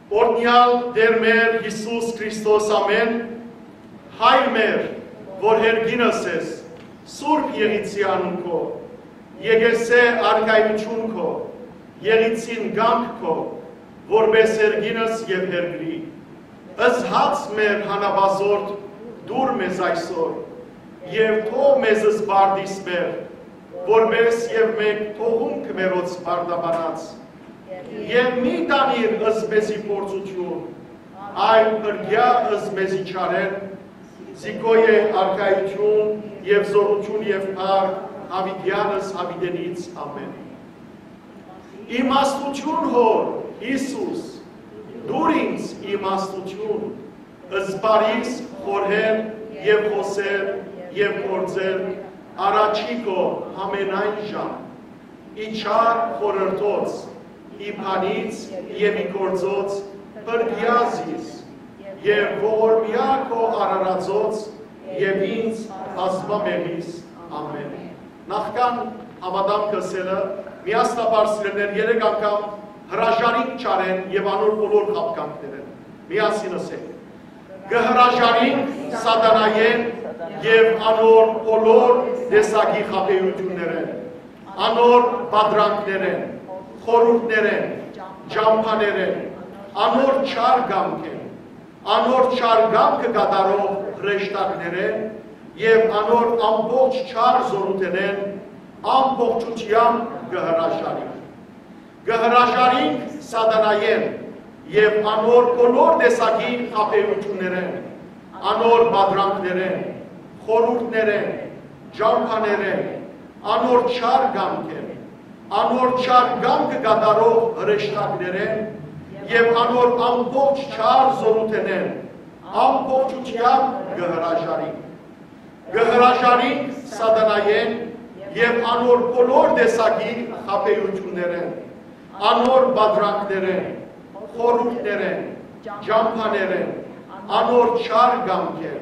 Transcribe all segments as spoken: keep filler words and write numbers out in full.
Օրհնեալ Տէր մեր Յիսուս Քրիստոս, ամէն։ Հայր մեր, որ հեռ կինս ես, սուրբ եղիցի անուն քո, եկեղեցէ արքայութիւն քո, եղիցին կամք քո, որպէս հեռ կինս եւ հեռ կրի։ Զհաց մեր հանապազորդ դուր մեզ այսօր, եւ թող մեզ զբարդիս մեր, որպէս եւ մենք թողունք մերոց բարդաբանած, եւ մի տանիր զմեզի փորձութիւն, այլ փրկեա զմեզի չարէն, զի քո է արքայութիւն եւ զօրութիւն եւ փառք, յաւիտեանս յաւիտենից։ Ամէն։ Իմաստութիւն, Հօր Յիսուս, տուր ինձ իմաստութիւն, զբարիս խորհել եւ խօսել եւ գործել առաջի քո յամենայն ժամ, ի չար խորհրդոց, ի բանից եւ ի գործոց փրկեա զիս, եւ ողորմեա քո արարածոց եւ ինձ բազմամեղիս։ Ամէն։ Նախքան հաւատանքը ըսելը, միասնաբար, սիրելիներ, երեք անգամ հրաժարինք չարէն եւ անոր բոլոր խաբկանքներէն։ Միասին ըսենք. «Կը հրաժարինք սատանայէն եւ անոր բոլոր տեսակի խաբեութիւններէն, անոր պատրանքներէն, խորհուրդներէն, ճամբաներէն, անոր չար կամքէն, անոր չար կամքը կատարող հրեշտակներէն եւ անոր ամբողջ չար զօրութենէն ամբողջութեամբ կը հրաժարինք։ Կը հրաժարինք սատանայէն եւ անոր բոլոր տեսակի խաբեութիւններէն, անոր պատրանքներէն, խորհուրդներէն, ճամբաներէն, անոր չար կամքէն, անոր չար կամքը կատարող հրեշտակներէն եւ անոր ամբողջ չար զօրութենէն ամբողջութեամբ կը հրաժարինք։ Կը հրաժարինք սատանայէն եւ անոր բոլոր տեսակի խաբեութիւններէն, անոր պատրանքներէն, խորհուրդներէն, ճամբաներէն, անոր չար կամքէն,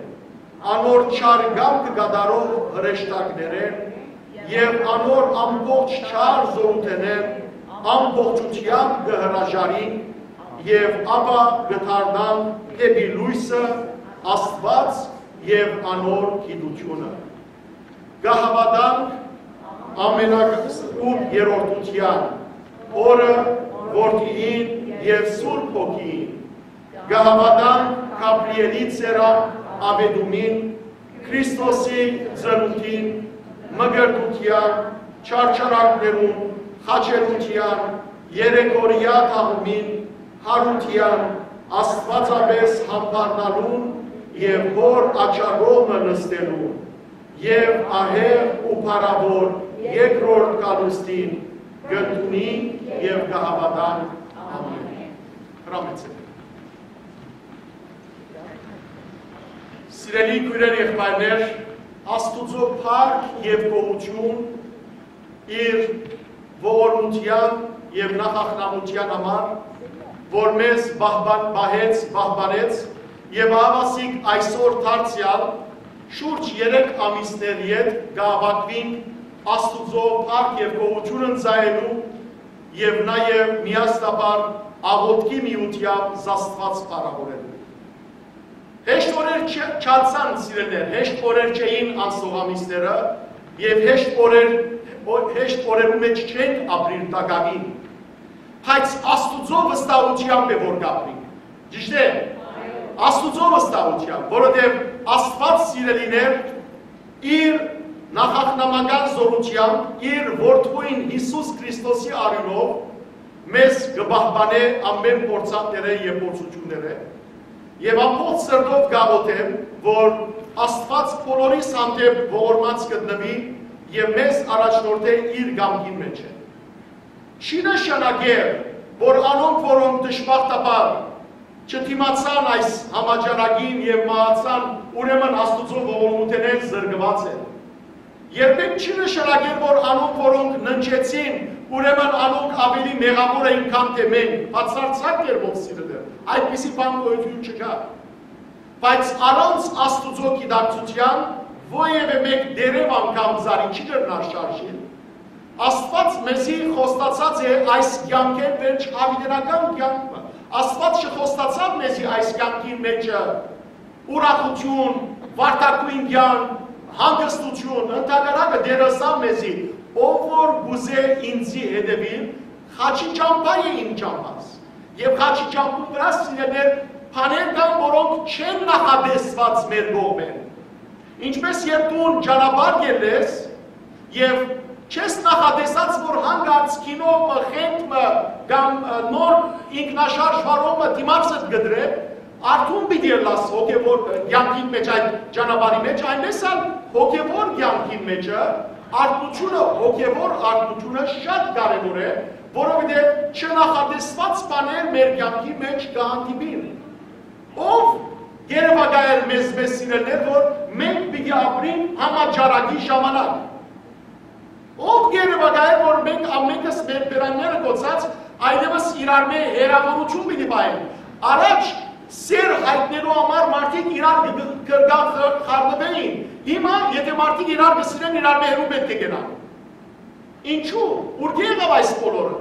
անոր չար կամքը կատարող հրեշտակներէն եւ անոր ամբողջ չար զօրութենէն ամբողջութեամբ կը հրաժարինք եւ ապա կը դառնանք դէպի լոյսը, Աստուած եւ անոր գիտութիւնը։ Կը հաւատանք ամենակսկուտ երրորդութեան, Հօրը, Որդիին եւ Սուրբ Հոգիին։ Կը հաւատանք Գաբրիէլի ծերան աւետումին, Քրիստոսի ծնունդին, մկրտութեան, չարչարանքներուն, խաչելութեան, երեքօրեայ թաղումին, յարութեան, աստուածապէս յամբարնալուն եւ Հօր աջակողմը նստելուն, եւ ահեղ ու փառաւոր երկրորդ գալուստին կ'ընդունինք եւ կը հաւատանք։ Ամէն։ Հրամեցէք։ Սիրելի քոյրեր, եղբայրներ, Աստուծոյ փառք եւ գոհութիւն իր ողորմութեան եւ նախախնամութեան համար, որ մեզ պահպան-, պահեց, պահպանեց եւ ահաւասիկ այսօր դարձեալ շուրջ երեք ամիսներ յետ կ'աւակուինք Աստուծոյ փառք եւ գոհութիւն ընծայելու եւ նաեւ միասնաբար աղօթքի միութեամբ զաստուած փառաւորելու։ Հեշտ օրեր չ-, չանցան, սիրելիներ, հեշտ օրեր չէին անցնող ամիսները եւ հեշտ օրեր, օ-, հեշտ օրերու մէջ չենք ապրիր տակաւին, բայց Աստուծոյ վստահութեամբ է որ կ'ապրինք։ Ճիշդ է։ Աստուծոյ վստահութեամբ, որովհետեւ Աստուած, սիրելիներ, իր նախախնամական զօրութեամբ, իր որդւոյն Յիսուս Քրիստոսի արիւնով մեզ կը պահպանէ ամէն փորձանքներէ եւ փորձութիւններէ, եւ ամբողջ սրտով կ'աղօթեմ, որ Աստուած բոլորիս հանդէպ ողորմած գտնուի եւ մեզ առաջնորդէ իր կամքին մէջ։ Չի նշանակեր, որ անոնք, որոնք դժբախտաբար չդիմացան այս համաճարակին եւ մահացան, ուրեմն Աստուծոյ ողորմութենէն զրկուած են։ Երբեք չի նշանակեր, որ անոնք, որոնք ննջեցին, ուրեմն անոնք աւելի մեղաւոր էին, քան թէ մենք, բացարձակ կերպով, սիրելիներ, այդպիսի բան գոյութիւն չկայ։ Բայց առանց Աստուծոյ գիտակցութեան որեւէ մէկ տերեւ անգամ ծառի չի կրնար շարժիլ։ Աստուած մեզի խոստացած է այս կեանքէն վերջ յաւիտենական կեանքը, Աստուած չխոստացաւ մեզի այս կեանքին մէջը ուրախութիւն, վարդագոյն կեանք, հանգստութիւն, ընդհակառակը Տէրը ըսաւ մեզի, ով որ կ'ուզէ ինծի հետեւիլ, խաչի ճամբայ է իմ ճամբաս։ Եւ խաչի ճամբուն վրայ, սիրելիներ, բաներ կան, որոնք չեն նախատեսուած մեր կողմէն։ Ինչպէս երբ դուն ճանապարհ կ'ելլես եւ չես նախատեսած, որ հանկարծ քինո մը, խենթ մը կամ, ը, նոր ինքնաշարժ վարող մը դիմացդ կը դրէ, արթուն պիտի ըլլաս հոգեւոր, ը, կեանքին մէջ, այդ ճանապարհի մէջ, այնպէս ալ հոգեւոր կեանքին մէջը արթնությունը, հոգեւոր արթնությունը շատ կարեւոր է, որովհետեւ չնախատեսուած բաներ մեր կեանքի մէջ կը հանդիպին։ Ո՞վ կ'երեւակայ մեզ, մեզ սիրելիներ, որ մենք պիտի ապրենք համաճարակի ժամանակ։ Ո՞վ կ'երեւակայ, որ մենք ամենքս մեր բերանները կոչած այլեւս իրարմէ հեռաւորութիւն պիտի պահենք։ Առաջ սեր յայտնելու համար մարդիկ իրար կը, կը, կը խ-, խառնուէին։ Հիմա, եթէ մարդիկ իրար կը սիրեն, իրարմէ հեռու պէտք է գնան։ Ինչու՞, ուրկէ՞ եղաւ այս բոլորը։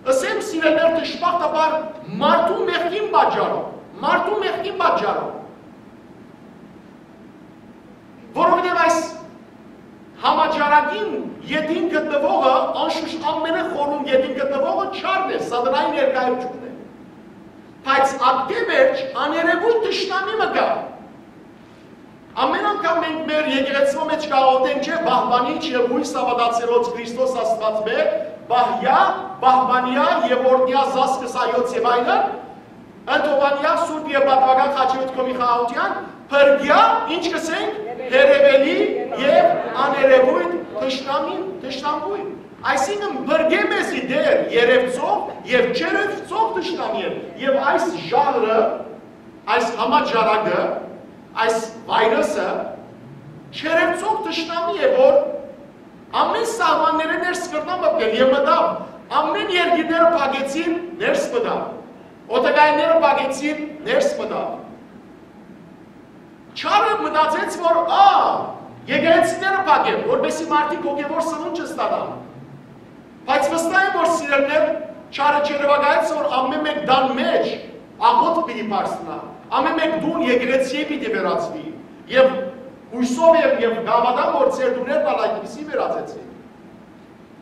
Ըսեմ, սիրելիներ, դժբախտաբար մարդու մեղքին պատճառով, մարդու մեղքին պատճառով։ Որովհետեւ այս համաճարակին ետին գտնուողը, անշուշտ ամենախորուն ետին գտնուողը չարն է, սատանայի ներկայութիւնն է։ Բայց ատկէ վերջ աներևոյթ թշնամի մը կայ։ Ամեն անգամ մենք մեր եկեղեցւոյ մէջ կ'աղօթենք, չէ՞, պահպանիչ եւ յոյս հաւատացեալոց Քրիստոս Աստուածմէ, պահեա, պահպանեա եւ օրհնեա զազգս հայոց եւ այլն, ընդհովանեա Սուրբ եւ Պատուական Խաչերոտ քովի խաղաղութեան, փրկեա, ինչ կ'ըսենք, հեռեւելի եւ աներևոյթ թշնամին, թշնամբոյն։ Այսինքն, փրկէ մեզի Տէր երևցող եւ չերևցող թշնամիէն, եւ այս ժահրը, այս համաճարակը, այս վայրուսը չերևցող թշնամի է, որ ամեն սահմաններէ ներս կրնայ մտնել եւ մտաւ, ամեն երկիրները փակեցին, ներս մտաւ, օդակայանները փակեցին, ներս մտաւ։ Չարը մտածեց, որ, ա, եկեղեցիները փակեմ, որպեսզի մարդիկ հոգեւոր սնունդ չստանան։ Բայց վստահ եմ, որ, սիրելիներ, չարը չերեւակայեց, որ ամեն մէկ տան մէջ աղօթք պիտի բարձրանայ, ամեն մէկ տուն եկեղեցի պիտի վերածուի, եւ յոյսով եմ եւ կհաւատամ, որ ձեր տուներն ալ այդպիսի վերածեցին։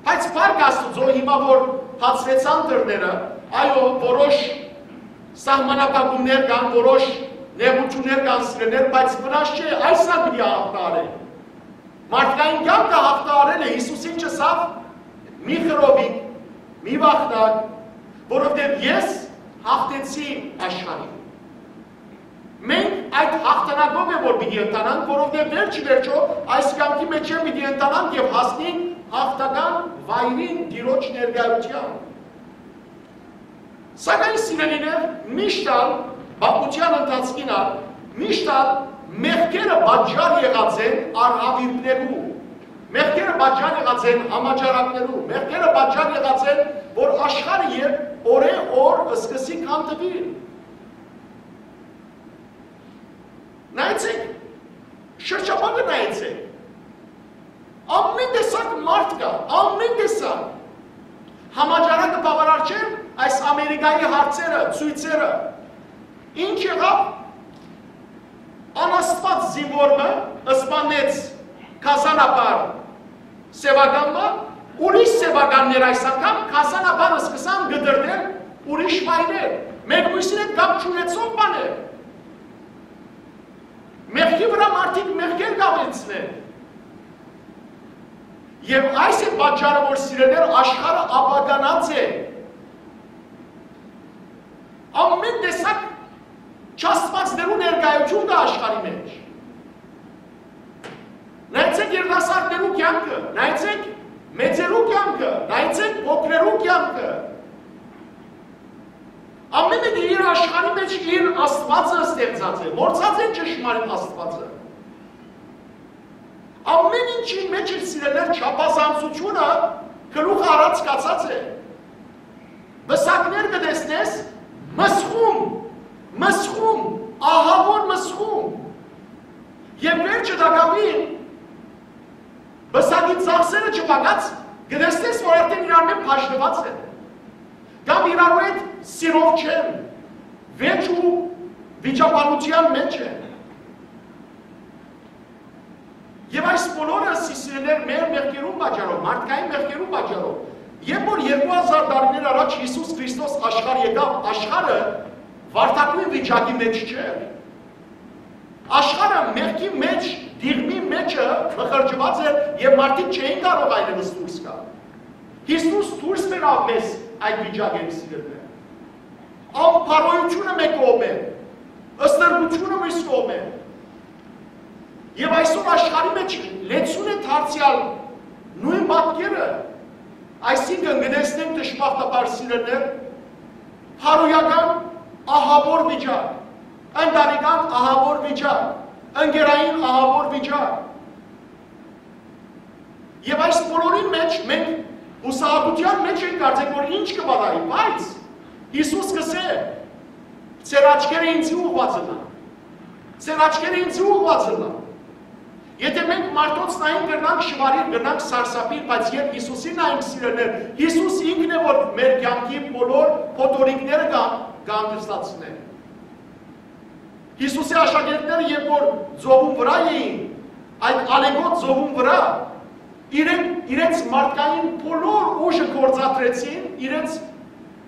Բայց փառք Աստուծոյ, հիմա որ բացուեցան դռները, այո, որոշ սահմանափակումներ կան, որոշ նեղութիւններ կան, սիրելիներ, բայց վնաս չէ, այս ալ պիտի հաղթահարենք։ Մարդկային կեանքը հաղթահարել է, Յիսուսին չըսաւ, «Մի խռովիք, մի վախնաք, որովհետեւ ես հաղթեցի աշխարհին»։ Մենք այդ հաղթանակով է որ պիտի ընթանանք, որովհետեւ վերջ ի վերջոյ այս կեանքի մէջ է պիտի ընթանանք եւ հասնենք հաղթական վայրին, Տիրոջ ներկայութեան։ Սակայն, սիրելիներ, միշտ ալ, պատմութեան ընթացքին ալ, միշտ ալ մեղքերը պատճառ եղած են արհաւիրքներու, մեղքերը պատճառ եղած են համաճարակներու, մեղքերը պատճառ եղած են, որ աշխարհը երբ օրէ օր սկսի քանդուիլ։ Նայեցեք, շրջապատը նայեցեք։ Ամեն տեսակ մարդ կայ, ամեն տեսակ։ Համաճարակը բաւարար չէ այս Ամերիկայի հարցերը, ցոյցերը։ Ինչ եղաւ, անաստուած զինուոր մը սպանեց գազանաբար սեւական մը, ուրիշ սեւականներ այս անգամ գազանաբար սկսան կտրտել ուրիշ վայրեր, մեկմուսին հետ կապ չունեցող բաներ։ Մեղքի վրայ մարդիկ մեղքեր կ'աւելցնեն։ Եւ այս է պատճառը, որ, սիրելիներ, աշխարհը ապականած է։ Ամեն տեսակ չաստուածներու ներկայութիւն կայ աշխարհի մէջ։ Նայեցեք երիտասարդներու կեանքը, նայեցեք մեծերու կեանքը, նայեցեք փոքրերու կեանքը։ Ամեն մեկը իր աշխարհի մէջ իր Աստուածը ստեղծած է, մոռցած են ճշմարիտ Աստուածը։ Ամեն ինչին մէջ իր, սիրելիներ, չափազանցությունը գլուխը առած գացած է։ Պսակներ կը տեսնես, մսխում, մսխում, ահաւոր մսխում։ Եւ վերջը տակաւին պսակի ծախսերը չփակած, կը տեսնես, որ արդեն իրար մէջ բաժնուած է։ Կամ իրարու հետ սիրով չեն, վեճ ու վիճաբանութեան մէջ են։ Եւ այս բոլորը, սիրելիներ, մեր մեղքերուն պատճառով, մարդկային մեղքերուն պատճառով։ Երբ որ երկու հազար տարիներ առաջ Յիսուս Քրիստոս աշխարհ եկաւ, աշխարհը վարդագոյն վիճակի մէջ չէր։ Աշխարհը մեղքի մէջ, դիղմի մէջը մխրճուած էր եւ մարդիկ չէին կարող այլեւս դուրս գալ։ Յիսուս դուրս բերաւ մեզ այդ վիճակէն, սիրելիներ։ Անփարոյութիւնը մէկ կողմէ, ստրկութիւնը մյուս կողմէ։ Եւ այսօր աշխարհի մէջ լեցուն է դարձեալ նոյն պատկերը, այսինքն՝ կը տեսնենք, դժբախտաբար, սիրելիներ, փարոյական ահաւոր վիճակ, ընտանեկան ահաւոր վիճակ, ընկերային ահաւոր վիճակ։ Եւ այս բոլորին մէջ մենք յուսահատութեան մէջ ենք, կարծենք, որ ինչ կը պատահի, բայց Յիսուս կ'ըսէ. «Ձեր աչքերը ինծի ուղղուած ըլլան։ Ձեր աչքերը ինծի ուղղուած ըլլան»։ Եթէ մենք մարդոց նայենք, կրնանք շվարիլ, կրնանք սարսափիլ, բայց երբ Յիսուսին նայենք, սիրելիներ, Յիսուս ինքն է, որ մեր կեանքի բոլոր փոթորիկները կը-, կ'հանգստացնէ։ Յիսուսի աշակերտները, երբ որ ծովուն վրայ էին, այդ ալեգոտ ծովուն վրայ, իրենք իրենց մարդկային բոլոր ուժը գործադրեցին, իրենց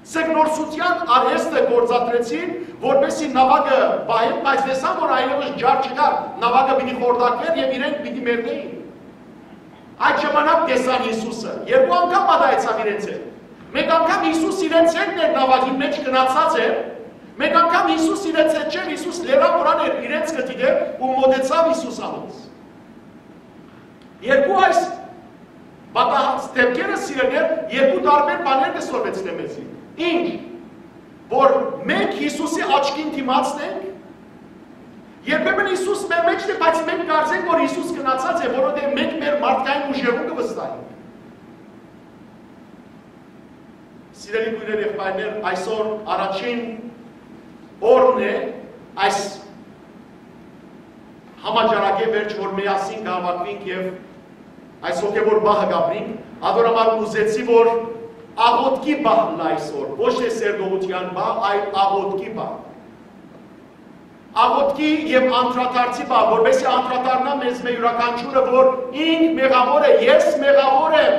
ձկնորսութեան արհեստը գործադրեցին, որպեսզի նաւակը պահեն, բայց տեսան, որ այլեւս ջար չկար, նաւակը պիտի խորտակվէր եւ իրենք պիտի մեռնէին։ Այդ ժամանակ տեսան Յիսուսը, երկու անգամ պատահեցաւ իրենց հետ։ Մէկ անգամ Յիսուս իրենց հետ էր, նաւակին մէջ գնացած էր, մէկ անգամ Յիսուս իրենց հետ չէր, Յիսուս լերան վրան էր, իրենց կը դիտէր ու մօտեցաւ Յիսուս անոնց։ Երկու այս պատահած դեպքերը, սիրելիներ, երկու տարբեր բաներ կը սորվեցնեն մեզի։ Ինչ, որ մենք Յիսուսի աչքին դիմացն ենք, երբեմն Յիսուս մեր մէջն է, բայց մենք կարծենք, որ Յիսուս գնացած է, որովհետեւ մենք մեր մարդկային ուժերուն կը վստահենք։ Սիրելի քոյրեր, եղբայրներ, այսօր առաջին օրն է այս համաճարակի վերջ, որ միասին կհաւաքուինք եւ այս հոգեւոր պահը կապրինք, ատոր համար ուզեցի, որ աղօթքի պահ ըլլայ այսօր, ոչ թե սերտողութեան պահ, այլ աղօթքի պահ։ Աղօթքի եւ անդրադարձի պահ, որպեսզի անդրադառնայ մեզմէ յուրաքանչիւրը, որ ինք մեղաւոր է, ես մեղաւոր եմ։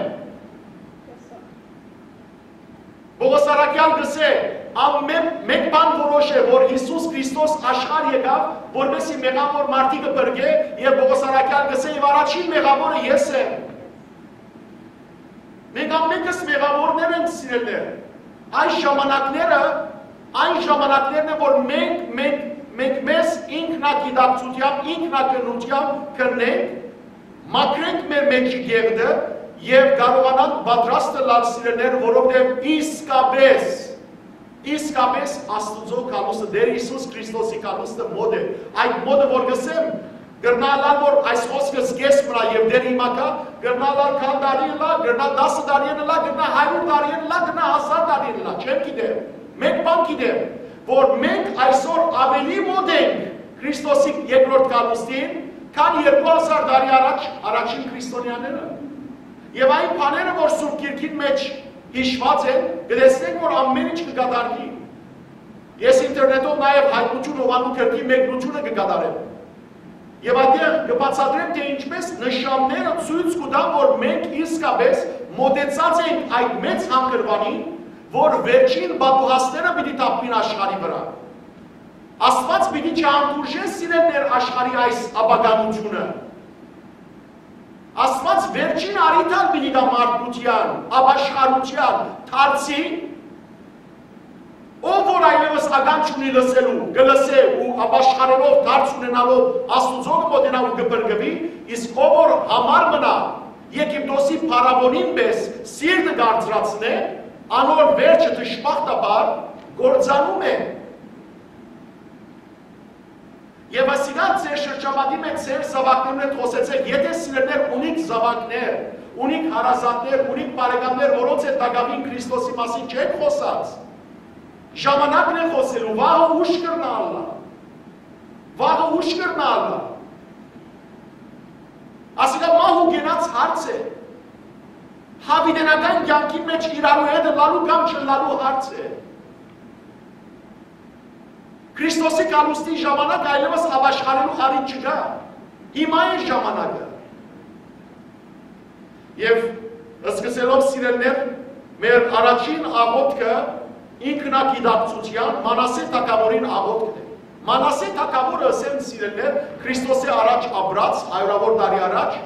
Պողոս առաքեալ կ'ըսէ, ամէն մէկ բան որոշ է, որ Յիսուս Քրիստոս աշխարհ եկաւ, որպեսզի մեղաւոր մարդիկը փրկէ, եւ Պողոս առաքեալ կ'ըսէ, եւ առաջին մեղաւորը ես եմ։ Մենք ամենքս մեղաւորներ ենք, սիրելիներ։ Այս ժամանակները, այն ժամանակներն են, որ մենք, մենք, մենք մեզ ինքնագիտակցութեամբ, ինքնակրթութեամբ կրնենք, մաքրենք մեր մէջի կեղտը եւ կարողանանք պատրաստ ըլլալ, սիրելիներ, որովհետեւ իսկապես, իսկապես Աստուծոյ գալուստը, Տէր Յիսուս Քրիստոսի գալուստը մօտ է։ Այդ մօտը, որ կ'ըսեմ, կրնայ ըլլալ, որ այս խօսքս կէս մնայ եւ դեռ հիմա կայ, կրնայ ըլլալ քան տարի ըլլայ, կրնայ տասը տարի ըլլայ, կրնայ հարիւր տարի ըլլայ, կրնայ հազար տարի ըլլայ, չեմ գիտեր։ Մէկ բան գիտեմ, որ մենք այսօր աւելի մօտ ենք Քրիստոսի երկրորդ գալուստին, քան երկու հազար տարի առաջ առաջին քրիստոնեաները։ Եւ այն բաները, որ Սուրբ Գիրքին մէջ յիշուած են, կը տեսնենք, որ ամէն ինչ կը կատարուի։ Ես ինտերնետով նաեւ Հայտնութիւն հովանու գրքի մեկնութիւնը կը կատարեմ։ Եւ այդտեղ կը բացատրեմ, թէ ինչպես նշանները ցոյց կու տան, որ մենք իսկապես մօտեցած ենք այդ մեծ հանգրուանին, որ վերջին պատուհասները պիտի թափուին աշխարհի վրայ։ Աստուած պիտի չհանդուրժէ, սիրելիներ, աշխարհի այս ապականութիւնը։ Աստուած վերջին առիթ ալ պիտի տայ մարդկութեան, ապաշխարութեան, դարձի, ով որ այլեւս ականջ ունի լսելու, կը լսէ ու ապաշխարելով, դարձ ունենալով Աստուծոյ կը մօտենայ ու կը փրկուի, իսկ ով որ յամառ մնայ, Եգիպտոսի փարաւոնին պէս սիրտը կարծրացնէ, անոր վերջը դժբախտաբար կործանում է։ Եւ ասիկա ձեր շրջապատի մէջ, ձեր զաւակներուն հետ խօսեցէք, եթէ, սիրելիներ, ունիք զաւակներ, ունիք հարազատներ, ունիք բարեկամներ, որոնց հետ տակաւին Քրիստոսի մասին չեք խօսած, ժամանակն է խօսելու, վաղը ուշ կրնայ ըլլայ, վաղը ուշ կրնայ ըլլայ։ Ասիկա մահ ու կենաց հարց է։ Յաւիտենական կեանքին մէջ իրարու հետ ըլլալու կամ չըլլալու հարց է։ Քրիստոսի գալուստի ժամանակ այլեւս ապաշխարելու առիթ չկայ։ Հիմա է ժամանակը։ Եւ սկսելով, սիրելիներ, մեր առաջին աղօթքը ինքնագիտակցութեան Մանասէ թագաւորին աղօթքն է։ Մանասէ թագաւորը, ըսեմ, սիրելիներ, Քրիստոսի առաջ ապրած, հարիւրաւոր տարի առաջ,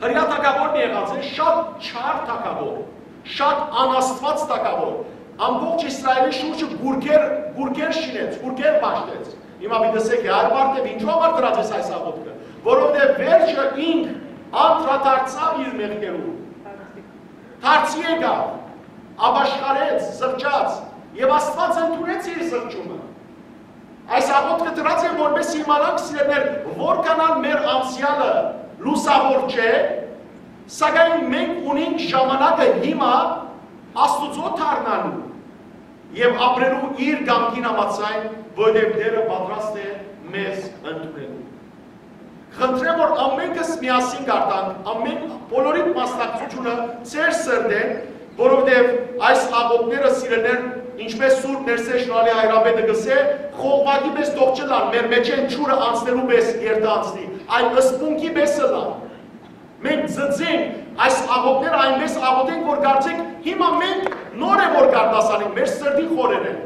հրեա թագաւորն եղած է, շատ չար թագաւոր, շատ անաստուած թագաւոր, ամբողջ Իսրայէլի շուրջը գուրգեր, գուրգեր շինեց, գուրգեր պաշտեց։ Հիմա պիտի ըսէք, «Այր Մարտէ, ինչու համար դրած ես այս աղօթքը»։ Որովհետեւ վերջը ինք անդրադարձաւ իր մեղքերուն, դարձի եկաւ, ապաշխարեց, զղջաց, եւ Աստուած ընդունեց իր զղջումը։ Այս աղօթքը դրած եմ, որպեսզի իմանանք, սիրելիներ, որքան ալ մեր անցեալը լուսաւոր չէ, սակայն մենք ունենք ժամանակը հիմա Աստուծոյ դառնալու եւ ապրելու իր կամքին համաձայն, որովհետեւ Տէրը պատրաստ է մեզ ընդունելու։ Խնդրեմ, որ ամենքս միասին կարտանք, ամեն, բոլորիդ մասնակցությունը ձեր սրտէն, որովհետեւ այս աղօթքները, սիրելիներ, ինչպես Սուրբ Ներսէ Շնորհալի Հայրապետը կ'ըսէ, խողովակի պէս թող չըլլան, մեր մէջէն ջուրը անցնելու պէս երթը անցնի, այլ սպունգի պէս ըլլան։ Մենք ձգենք այս աղօթքները, այնպես աղօթենք, որ կարծենք հիմա մենք նոր է որ կարտասանենք մեր սրտի խորերէն։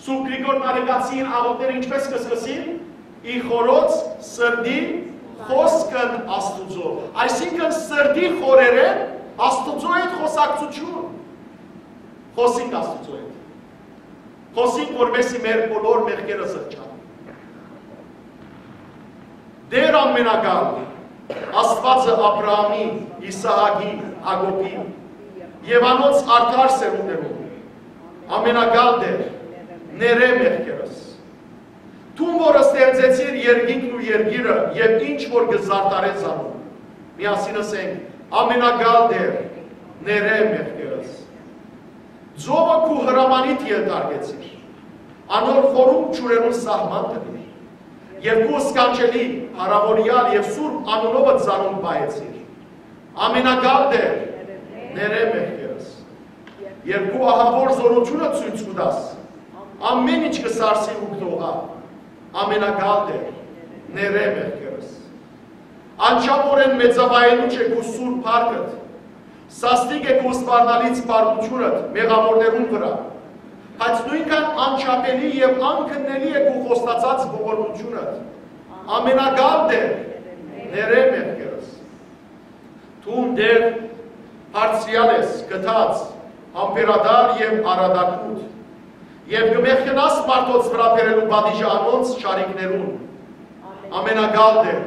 Սուրբ Գրիգոր Նարեկացին աղօթքները ինչպես կը սկսին։ «Ի խորոց սրտի խօսքն Աստուծոյ»։ Այսինքն, սրտի խորերէն Աստուծոյ հետ խօսակցութիւն։ Խօսինք Աստուծոյ հետ։ Խօսինք, որպեսզի մեր բոլոր մեղքերը զղջան։ Տէր ամենակալ, Աստուածը Աբրահամի, Իսահակի, Յակոբի եւ անոնց արդար սերունդներուն, ամենակալ Տէր, ներէ մեղքերս։ Դուն, որ ստեղծեցիր երկինքն ու երկիրը եւ ինչ որ կը զարդարես անոր, միասին ըսենք. «Ամենակալ Տէր, ներէ մեղքերս»։ Ծովը քու հրամանիդ ենթարկեցիր, անոր խորունկ ջուրերուն սահման դնիր, եւ քու սքանչելի, փառաւորեալ եւ սուրբ անունովը ծանոթ պահեցիր։ Ամենակալ Տէր, ներէ մեղքերս։ Եւ քու ահաւոր զօրութիւնը ցոյց կու տաս, ամէն ինչ կը սարսի ու կը դողայ։ Ամենակալ Տէր, ներէ մեղքերս։ Անչափօրէն մեծաւայելուչ է քու սուրբ փառքդ, սաստիկ է քու սպառնալից փառքութիւնդ մեղաւորներուն վրայ, բայց նոյնքան անչափելի եւ անքննելի է քու խոստացած ողորմութիւնդ։ Ամենակալ Տէր, ներէ մեղքերս։ Դուն, Տէր, բարձրեալ ես, գթած, համբերատար եւ առատակուտ, եւ կը մեղքենաս մարդոց վրայ բերելու պատիժը անոնց չարիքներուն։ Ամենակալ Տէր,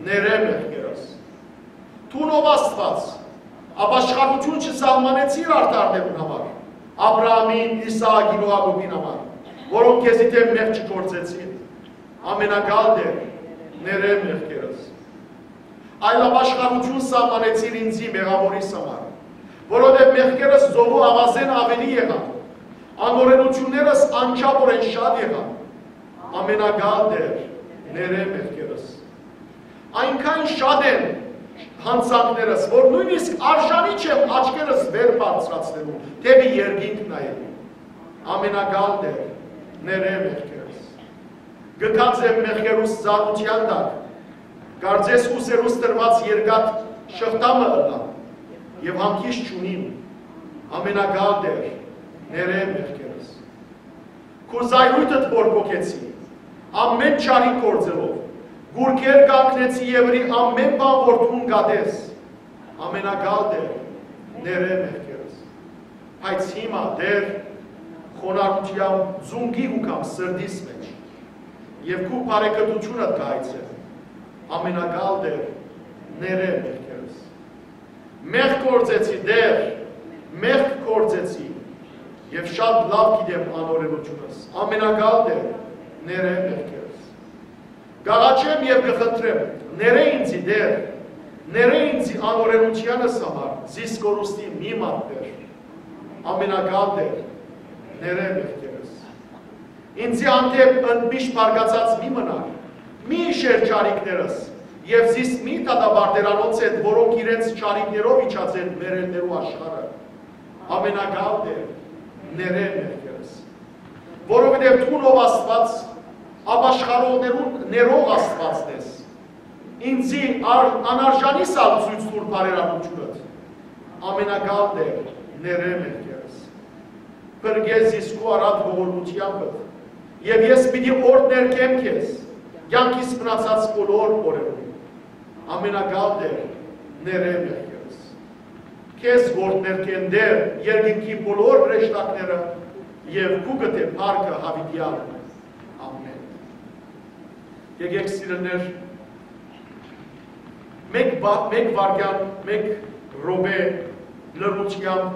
ներէ մեղքերս։ Դուն, ով Աստուած, ապաշխարութիւն չսահմանեցիր արդարներուն համար, Աբրահամին, Իսահակին ու Յակոբին համար, որոնք քեզի դէմ մեղք չգործեցին։ Ամենակալ Տէր, ներէ մեղքերս։ Այլ ապաշխարութիւն սահմանեցիր ինծի մեղաւորիս համար, որովհետեւ մեղքերս ծովու աւազէն աւելի եղան, անօրենութիւններս անչափօրէն շատ եղան։ Ամենակալ Տէր, ներէ մեղքերս։ Այնքան շատ են յանցանքներս, որ նոյնիսկ արժանի չեմ աչքերս վեր բարձրացնելու, դէպի երկինք նայելու։ Ամենակալ Տէր, ներէ մեղքերս։ Կքած եմ մեղքերուս ծանրութեան տակ, կարծես ուսերուս տրուած երկաթ շղթայ մը ըլլայ, եւ հանգիստ չունիմ։ Ամենակալ Տէր, ներէ մեղքերս։ Քու զայրույթդ բորբոքեցի, ամէն չարիք գործելով, գուրգեր կանգնեցի եւրի ամէն բան որ դուն կատես։ Ամենակալ Տէր, ներէ մեղքերս։ Բայց հիմա, Տէր, խոնարհութեան ծունկի ու կամ սրտիս մէջ, եւ քու բարեկտութիւնդ կայցեմ։ Ամենակալ Տէր, ներէ մեղքերս։ Մեղք գործեցի, Տէր, մեղք գործեցի, եւ շատ լաւ գիտեմ անօրենութիւնս։ Ամենակալ Տէր, ներէ մեղքերս։ Կ'աղաչեմ եւ կը խնդրեմ, ներէ ինծի, Տէր, ներէ ինծի անօրենութեանս համար, զիս կորուստի մի մատներ։ Ամենակալ Տէր, ներէ մեղքերս։ Ինծի հանդէպ ընդմիշտ բարկացած մի մնար, մի իշեր չարիքներս, Եւ զիս մի դատապարտէր անոնց հետ, որոնք իրենց չարիքներով իջած են մեռելներու աշխարհը։ Ամենակալ Տէր, ներէ մեղքերս։ Որովհետեւ դուն, ով Աստուած, ապաշխարողներուն ներող Աստուածն ես, ինծի ար-, անարժանիս ալ ցոյց տուր բարերարութիւնդ։ Ամենակալ Տէր, ներէ մեղքերս։ Փրկէ զիս քու առատ ողորմութեամբդ, եւ ես պիտի օրհներկեմ քեզ կեանքիս մնացած բոլոր օրերուն։ Ամենակալ Տէր, ներէ մեղքերս։ Քեզ կ'օրհներկեն, Տէր, երկնքի բոլոր հրեշտակները, եւ քու կտէ փառքը յաւիտեալ։ Ամէն։ Եկեք, սիրելիներ, մէկ բա-, մէկ վայրկեան, մէկ րոպէ լռութեամբ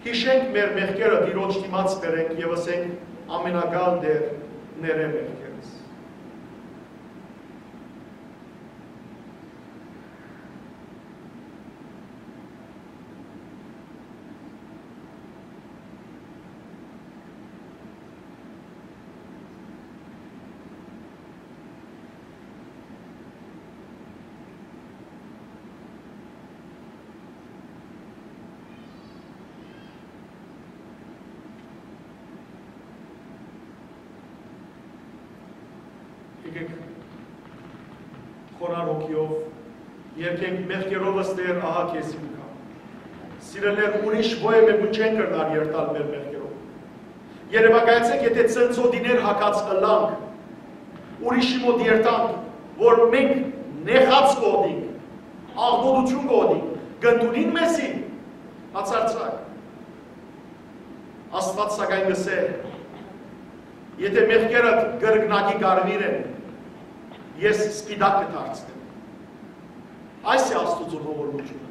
յիշենք մեր մեղքերը, Տիրոջ դիմաց բերենք եւ ըսենք. «Ամենակալ Տէր, ներէ մեղքերս»։ Եկեք, խոնարհ հոգիով երգենք. «Մեղքերովս, Տէր, ահա քեզի կու գամ»։ Սիրելիներ, ուրիշ ոեւէ մէկուն չեն կրնար երթալ մեր մեղքերով։ Երեւակայեցէք, եթէ ցնցոտիներ հագած ըլլանք, ուրիշի մօտ երթանք, որ մենք նեխած կ'ուտենք, աղտոտութիւն կ'ուտենք, կ'ընդունին մեզի, բացարձակ։ Աստուած սակայն կ'ըսէ. «Եթէ մեղքերդ կրկնակի կարմիր են, ես սպիտակ կը դարձնեմ»։ Այս է Աստուծոյ ողորմութիւնը,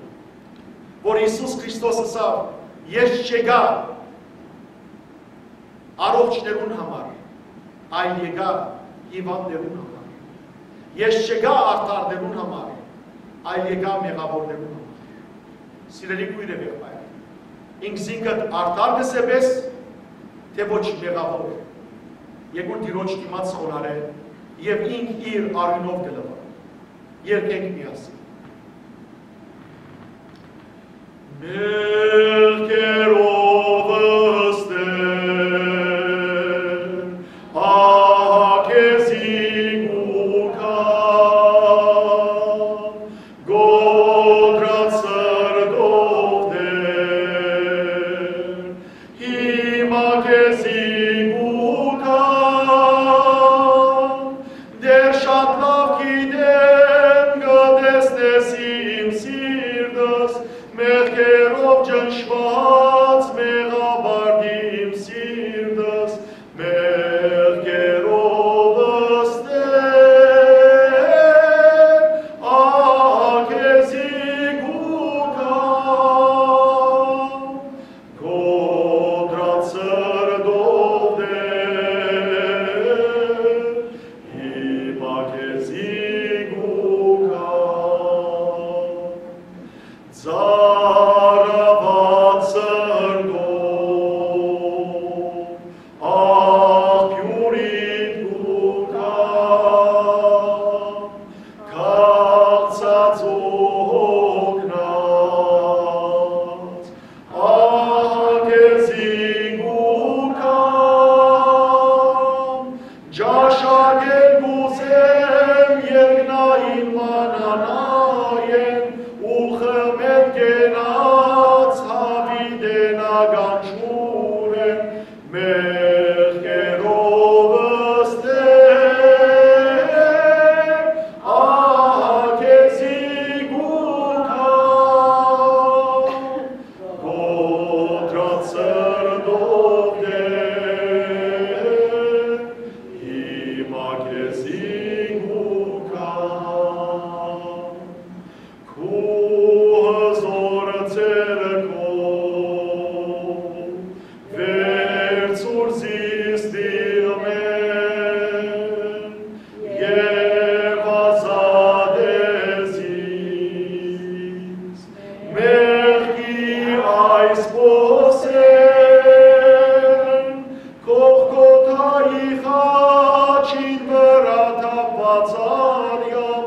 որ Յիսուս Քրիստոս ըսաւ. «Ես չեկայ առողջներուն համար, այլ եկայ հիւանդներուն համար։ Ես չեկայ արդարներուն համար, այլ եկայ մեղաւորներուն համար»։ Սիրելի քոյր եւ եղբայր, ինքզինքդ արդար կ'ըսե՞ս, թէ ոչ մեղաւոր։ Եկուր Տիրոջ դիմաց խոնարհ եւ ինք իր արիւնով կը լուայ։ Երգենք միասին. «Մեղքերովս, Տէր, ահա քեզի կու գամ, կոտրած սրտով, Տէր, հիմա քեզի կու գամ, Տէր, շատ լաւ գիտեմ, կը տեսնես իմ սիրտս, մեղքերով ճնշուած, մեղապարտ իմ սիրտս, մեղքերովս, Տէր, ահա քեզի կու գամ, կոտրած սրտով, Տէր, հիմա քեզի կու գամ, ծարաւած սրտով, աղբիւրիդ կու գամ, քաղցած ու հոգնած, ահա քեզի կու գամ, ճաշակել կ'ուզեմ երկնային մանանայէն ու խմել կենաց յաւիտենական ջուրէն, մեղքերովս, Տէր, ահա քեզի կու գամ, կոտրած սրտով, Տէր, հիմա քեզի կու գամ, քու հզոր ձեռքով, վերցուր զիս տիղմէն եւ ազատէ զիս մեղքի այս փոսէն, Գողգոթայի խաչին վրայ թափուած արեան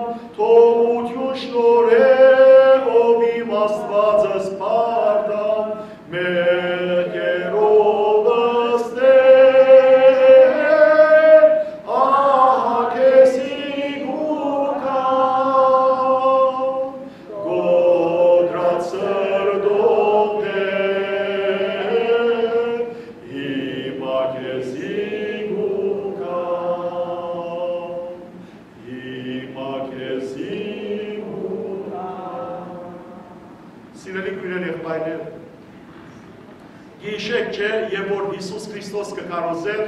Յիսուս Քրիստոս կը քարոզէր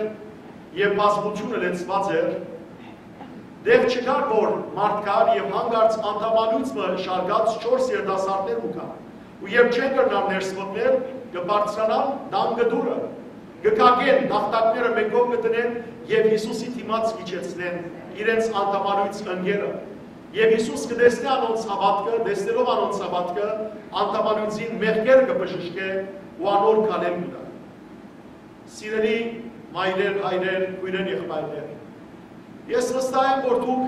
եւ բազմութիւնը լեցուած էր, տեղ չկար, որ մարդ գար եւ հանկարծ անդամալոյծ մը շարքած չորս երիտասարդներ ու գար։ Ու երբ չեն կրնար ներս մտնել, կը բարձրանան տան կտուրը, կը կակեն, տախտակները մէկով կը դնեն եւ Յիսուսի դիմաց կ'իջեցնեն, իրենց անդամալոյծ ընկերը։ Եւ Յիսուս կը տեսնէ անոնց հաւատքը, տեսնելով անոնց հաւատքը, անդամալոյծին մեղքերը կը բժշկէ ու անոր քալել կու տայ։ Սիրելի մայրեր, հայրեր, քոյրեր, եղբայրներ, ես վստահ եմ, որ դուք,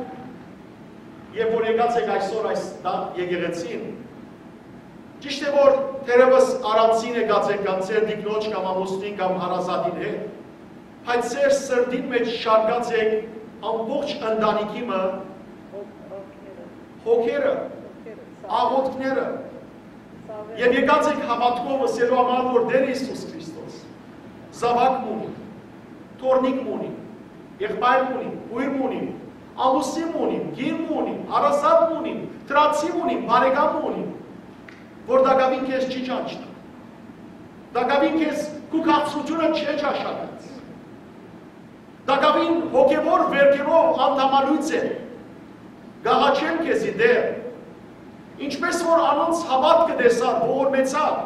երբ որ եկած եք այսօր այս տան եկեղեցին, ճիշդ է, որ թերեւս առանձին եկած եք կամ ձեր տիկնոջ կամ ամուսնին կամ հարազատին հետ, բայց ձեր սրտին մէջ շարքած եք ամբողջ ընտանիքի մը հոգերը, աղոթքները, եւ եկած եք հաւատքով ըսելու համար, որ Տեր Յիսուս Քրիստոս զաւակ մը ունի, թոռնիկ մը ունի, եղբայր մը ունի, քոյր մը ունի, ամուսին մը ունի, կին մը ունի, հարազատ մը ունի, դրացի մը ունի, բարեկամ մը ունի, որ տակաւին քեզ չի ճանչնար, տակաւին քեզ քու քաղցրութիւնը չի ճաշակած, տակաւին հոգեւոր վէրքերով անդամալոյծ է, կ'աղաչեմ քեզի, Տեր, ինչպէս որ անոնց հաւատքը տեսար, ողորմեցաւ,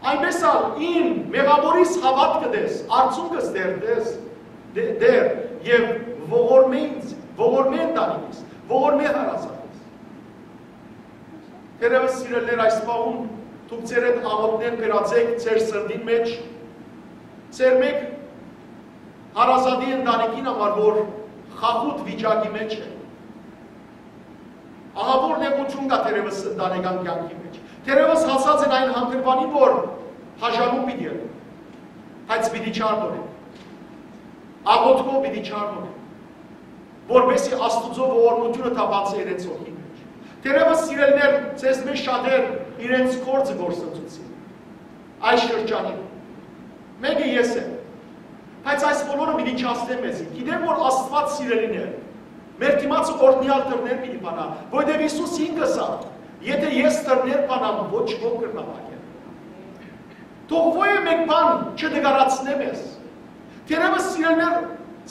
այնպէս ալ իմ մեղաւորիս հաւատքը տես, արցունքս Տեր տես, Տե-, Տեր, եւ ողորմե ինձ, ողորմե ընտանիքս, ողորմե հարազատս։ Թերեւս, սիրելիներ, այս պահուն դուք ձեր հետ աղօթքներ կրած եք ձեր սրտին մէջ, ձեր մէկ հարազատի ընտանիքին համար, որ խախուտ վիճակի մէջ է։ Ահա որ նեղություն կայ թերեւս ընտանեկան կեանքի մէջ։ Թերեւս հասած են այն հանգրուանին, որ հաշարում պիտի ըլլան, բայց պիտի չարդորեն, աղօթքով պիտի չարդորեն, որպեսզի Աստուծոյ ողորմութիւնը թափանցէ իրենց հոգին մէջ։ Թերեւս, սիրելիներ, ձեզմէ շատեր իրենց գործը կորսնցուցին այս շրջանին։ Մէկը ես եմ, բայց այս բոլորը պիտի չասնեմ մեզի։ Գիտեմ, որ Աստուած, սիրելիներ, մեր դիմացը օրհնեալ դռներ պիտի բանայ, որովհետեւ Յիսուս ինք ըսաւ. «Եթէ ես դռներ բանամ, ոչ ոք կրնայ փակել»։ Թող ոեւէ մէկ բան չտկարացնէ մեզ։ Թերեւս, սիրելիներ,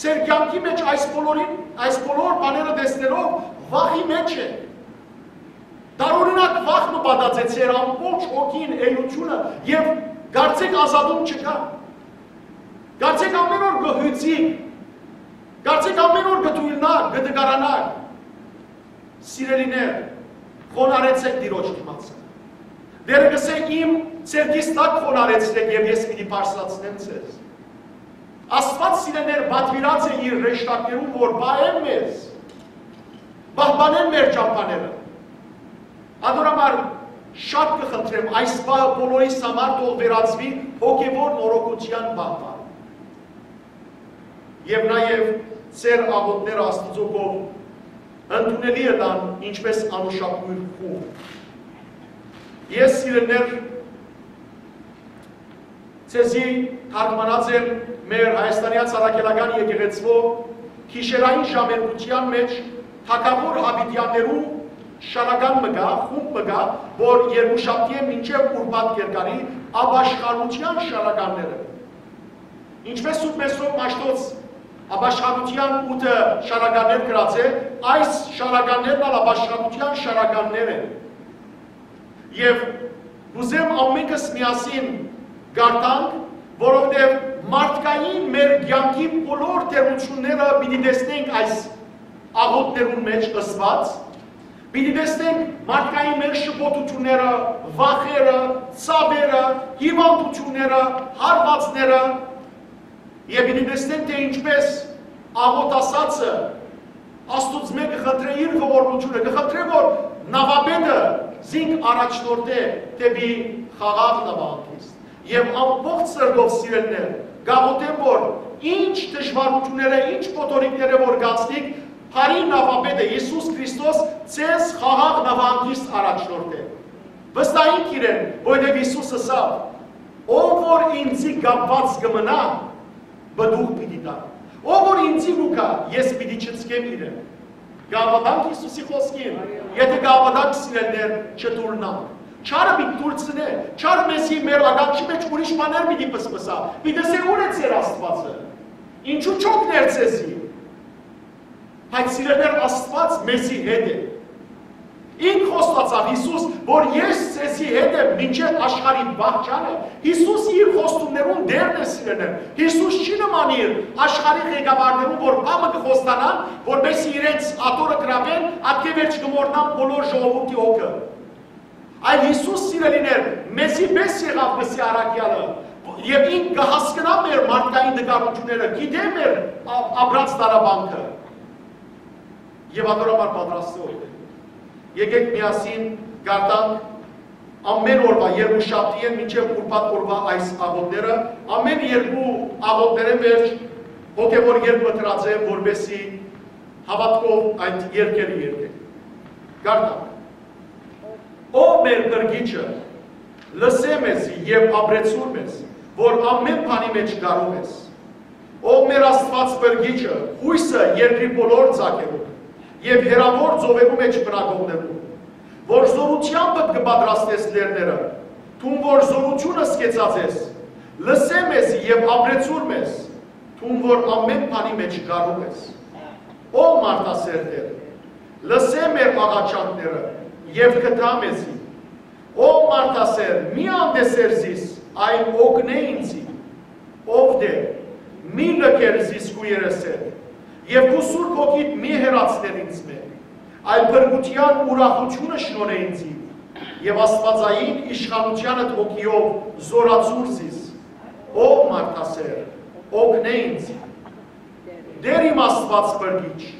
ձեր կեանքի մէջ այս բոլորին, այս բոլոր բաները տեսնելով, վախի մէջ է։ Տարօրինակ վախ մը պատած է ձեր ամբողջ հոգին, էությունը, եւ կարծեք ազատում չկայ։ Կարծեք ամէն օր կը հիւծի, կարծեք ամէն օր կը դուիլնաք, կը տկարանաք։ Սիրելիներ, խոնարհեցէք Տիրոջ դիմացը։ Տերը կ'ըսէ. «Իմ ձեռքիս տակ խոնարհեցրէք եւ ես պիտի բարձրացնեմ ձեզ»։ Աստուած, սիրելիներ, պատուիրած է իր հրեշտակներուն, որ պահեն մեզ, պահպանեն մեր ճամբաները։ Անոր համար շատ կը խնդրեմ, այս պահը բոլորիս համար թող վերածուի հոգեւոր նորոգութեան պահ։ Եւ նաեւ ձեր աղօթքները Աստուծոյ կողմէ ընդունելի ըլլան, ինչպէս անուշաբոյր խուղ։ Ես, սիրելիներ, ձեզի թարգմանած եմ մեր Հայաստանեան Սարաքելական եկեղեցւոյ գիշերային ժամերգութեան մէջ թագաւոր Յաւիտեաններու շարական մը կայ, խումբ մը կայ, որ Երկուշաբթիէն մինչեւ Ուրբաթ կ'երկարի, ապաշխարութեան շարականները։ Ինչպէս Սուրբ Մեսրոպ Մաշտոց ապաշխարութեան ութը շարականներ գրած է, այս շարականներն ալ ապաշխարութեան շարականներ են։ Եւ կ'ուզեմ ամենքս միասին կարդանք, որովհետեւ մարդկային մեր կեանքի բոլոր դերությունները պիտի տեսնենք այս աղօթներուն մէջ ըսուած, պիտի տեսնենք մարդկային մեր շփոթությունները, վախերը, ցաւերը, հիւանդութիւնները, հարուածները, եւ պիտի տեսնենք, թէ ինչպէս աղօթ ասածը Աստուծմէ կը խնդրէ իր ողորմութիւնը, կը խնդրէ, որ նաւապետը զինք առաջնորդէ դէպի խաղաղ նաւահանգիստ։ Եւ ամբողջ սրտով, սիրելիներ, կաղօթեմ, որ ինչ դժվարութիւնները, ինչ փոթորիկները որ գացնիք, բարի նաւապետը Յիսուս Քրիստոս ձեզ խաղաղ նաւահանգիստ առաջնորդէ։ Վստահինք իրեն, որովհետեւ Յիսուս ըսաւ. «Ով որ ինձի կապուած կը մնայ, պտուղ պիտի տայ։ Ով որ ինձի կու գայ, ես պիտի չցկեմ իրեն»։ Կ'աւատանք Յիսուսի խօսքին, եթէ կ'աւատանք, սիրելիներ, չտուռնանք։ Չարը պիտի դուրսնէ, չարը մեզի մեր ականջի մէջ ուրիշ բաներ պիտի պսպսայ, պիտի ըսէ՝ «Ո՞ւր է ձեր Աստուածը, ինչու չօգներ ձեզի»։ Բայց սիրելիներ, Աստուած մեզի հետ է։ Ինք խոստացաւ Յիսուս, որ «Ես ձեզի հետ եմ մինչեւ աշխարհի վախճանը»։ Յիսուս իր խոստումներուն Տերն է, սիրելիներ։ Յիսուս չի նմանիր աշխարհի ղեկավարներուն, որ բան մը կը խոստանան, որպեսզի իրենց աթոռը գրաւեն, ատկէ վերջ կը մոռնան բոլոր ժողովուրդի հոգը։ Այլ Յիսուս, սիրելիներ, մեզի պէս եղաւ, կսի առաքեալը, եւ ինք կը հասկնայ մեր մարդկային տկարութիւնները, գիտէ մեր ա-, ապրած տառապանքը։ Եւ ատոր համար պատրաստող է։ Եկեք միասին կարդանք ամէն օրուայ, երկուշաբթիէն մինչեւ ուրբաթ օրուայ այս աղօթքները, ամէն երկու աղօթքներէն վերջ հոգեւոր երգ մտրած եմ, որպեսզի հաւատքով այդ երգերը երգենք։ Կարդանք։ Ով մեր Փրկիչը, լսէ մեզի եւ ապրեցուր մեզ, որ ամէն բանի մէջ կարող ես։ Ով մեր Աստուած Փրկիչը, յոյսը երկրի բոլոր ձագերուն եւ հեռաւոր ծովերու մէջ բնակողներուն, որ զօրութեամբդ կը պատրաստես լեռները, դուն որ զօրութիւնս կեցած ես, լսէ մեզի եւ ապրեցուր մեզ, դուն որ ամէն բանի մէջ կարող ես։ Ով մարդասեր Տէր, լսէ մեր աղաչանքները եւ գթա մեզի։ Ով մարդասեր, մի անտեսեր զիս, այլ օգնէ ինձի։ Ով Տէր, մի լքեր զիս քու երեսէդ, եւ քու Սուրբ Հոգիդ մի հեռացներ ինձմէ, այլ փրկութեան ուրախութիւնը շնորհէ ինձի, եւ աստուածային իշխանութեանդ հոգիով զօրացուր զիս։ Ով մարդասեր, օգնէ ինձի։ Տէր իմ Աստուած Փրկիչ,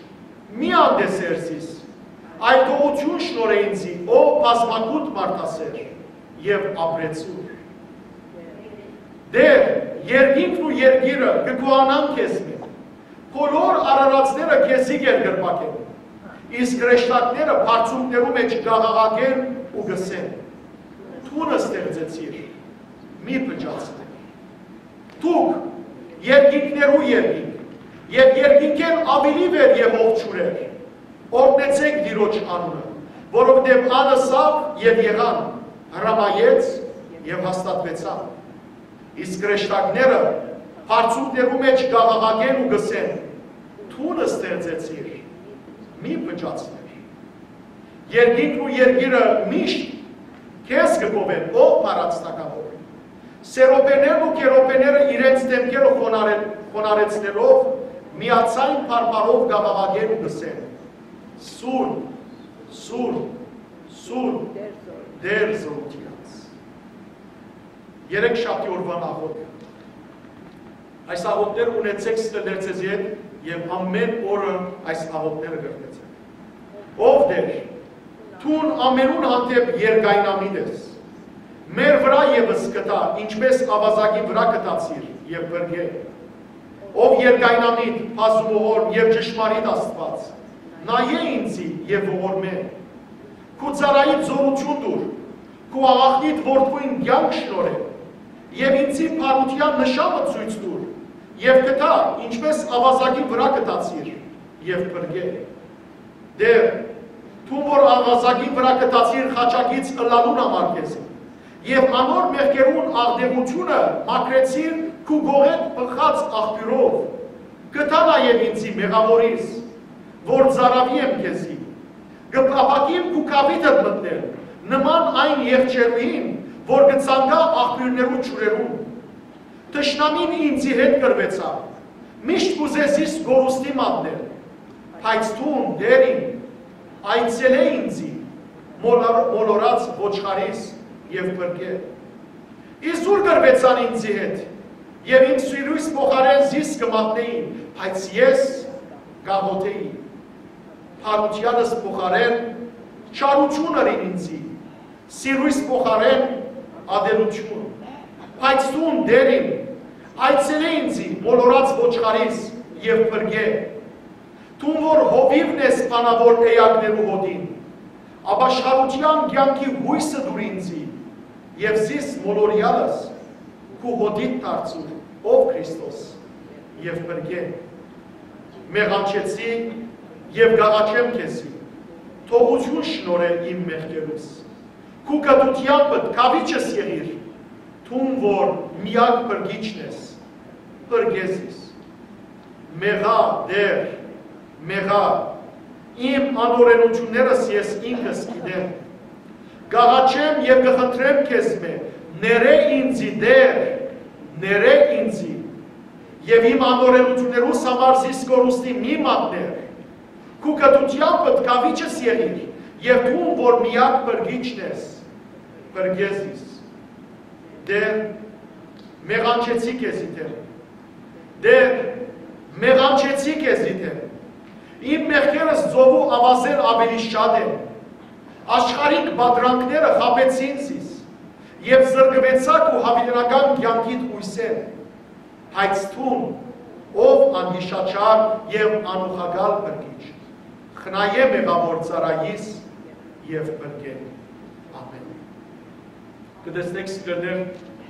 մի անտեսեր զիս, այլ գողութիւն շնորհէ ինձի, ով բազմագութ մարդասեր, եւ ապրեցուր։ Տէր, երկինքն ու երկիրը կը գոհանան քեզմէ, բոլոր արարածները քեզի կերկրպագեն, իսկ հրեշտակները բարձունքներու մէջ կ'աղաղակեն ու կ'ըսեն. «Դուն ստեղծեցիր, մի փճացնիր»։ Դուք, երկինքներու երկինք, եւ երկինքէն աւելի վեր Յովհան ջուրեր, օրհնեցէք Տիրոջ անունը, որովհետեւ ան ըսաւ եւ եղան, հրամայեց եւ հաստատուեցան։ Իսկ հրեշտակները բարձունքներու մէջ կ'աղաղակեն ու կ'ըսեն. «Դուն ստեղծեցիր, մի փճացնիր»։ Երկինքն ու երկիրը միշտ քեզ կը գովեն, ով փառաց թագաւոր։ Սերոբերներն ու քերոբերները իրենց դեմքերը խոնարհ-, խոնարհեցնելով, միաձայն բարբառով կ'աղաղակեն ու կ'ըսեն. «Սուրբ, սուրբ, սուրբ, Տէր զօրութեանց»։ Երեք շաբթի օրուան աղօթքը։ Այս աղօթքները ունեցեք ստելերցեզի հետ եւ ամէն օրը այս աղօթքները կրկնեցեք։ Ով Տէր, դուն ամենուն հանդեպ երկայնամիտ ես։ Մեր վրայ եւս գթա, ինչպես աւազակի վրայ գթացիր եւ փրկէ։ Ով երկայնամիտ, բազումողորմ եւ ճշմարիտ Աստուած, նայէ ինձի եւ ողորմէ։ Քու ծառայիդ զօրութիւն տուր, քու աղախնիդ որդւոյն կեանք շնորհէ, եւ ինձի բարութեան նշանը ցոյց տուր, եւ գթա, ինչպես աւազակի վրայ գթացիր, եւ փրկէ։ Տէր, դուն որ աւազակի վրայ գթացիր խաչակից ըլլալուն համար քեզի, եւ անոր մեղքերուն աղտեղութիւնը մաքրեցիր քու կողէդ բխած աղբիւրով, գթա նաեւ ինձի մեղաւորիս, որ ծառաւի եմ քեզի, կը փափաքիմ քու գաւիթդ մտնել, նման այն եղջերուին, որ կը ցանկայ աղբիւրներու ջուրերուն։ Թշնամին ինձի հետ կռուեցաւ, միշտ կ'ուզէ զիս կորուստի մատնել, բայց դուն, Տէր իմ, այցելէ ինձի, մոլոր-, մոլորած ոչխարիս եւ փրկէ։ Իզուր կռուեցան ինձի հետ, եւ իմ սիրոյս փոխարէն զիս կը մատնէին, բայց ես կ'աղօթէի։ Բարութեանս փոխարէն չարութիւն ըրին ինձի, սիրոյս փոխարէն ատելութիւն։ Բայց դուն, Տէր իմ, այցելէ ինձի, մոլորած ոչխարիս եւ փրկէ։ Դուն որ հովիւն ես բանաւոր էակներու հոտին, ապաշխարութեան կեանքի յոյսը տուր ինձի, եւ զիս մոլորեալս քու հոտիդ դարձուր, ով Քրիստոս, եւ փրկէ։ Մեղանչեցի եւ կ'աղաչեմ քեզի, թողութիւն շնորհէ իմ մեղքերուս, Քու կտութեամբդ քաւիչս եղիր, դուն որ միակ փրկիչն ես, փրկե զիս։ Մեղա, Տէր, մեղա, իմ անօրենութիւններս ես ինքս գիտեմ։ Կ'աղաչեմ եւ կը խնդրեմ քեզմէ, ներէ ինծի, Տէր, ներէ ինծի, եւ իմ անօրենութիւններուս համար զիս կորուստի մի մատնէր։ Քու կտութեամբդ քաւիչս եղիր, եւ դուն որ միակ փրկիչն ես, փրկե զիս։ Տէր, մեղանչեցի քեզի դէմ։ Տէր, մեղանչեցի քեզի դէմ։ Իմ մեղքերս ծովու աւազէն աւելի շատ են։ Աշխարհիկ պատրանքները խաբեցին զիս, եւ զրկուեցայ քու յաւիտենական կեանքիդ յոյսէն։ Բայց դուն, ով անյիշաչար եւ անուխակալ փրկիչ, խնայէ մեղաւոր ծառայիս եւ փրկէ։ Ամէն։ Կը տեսնէք, սիրելիներ,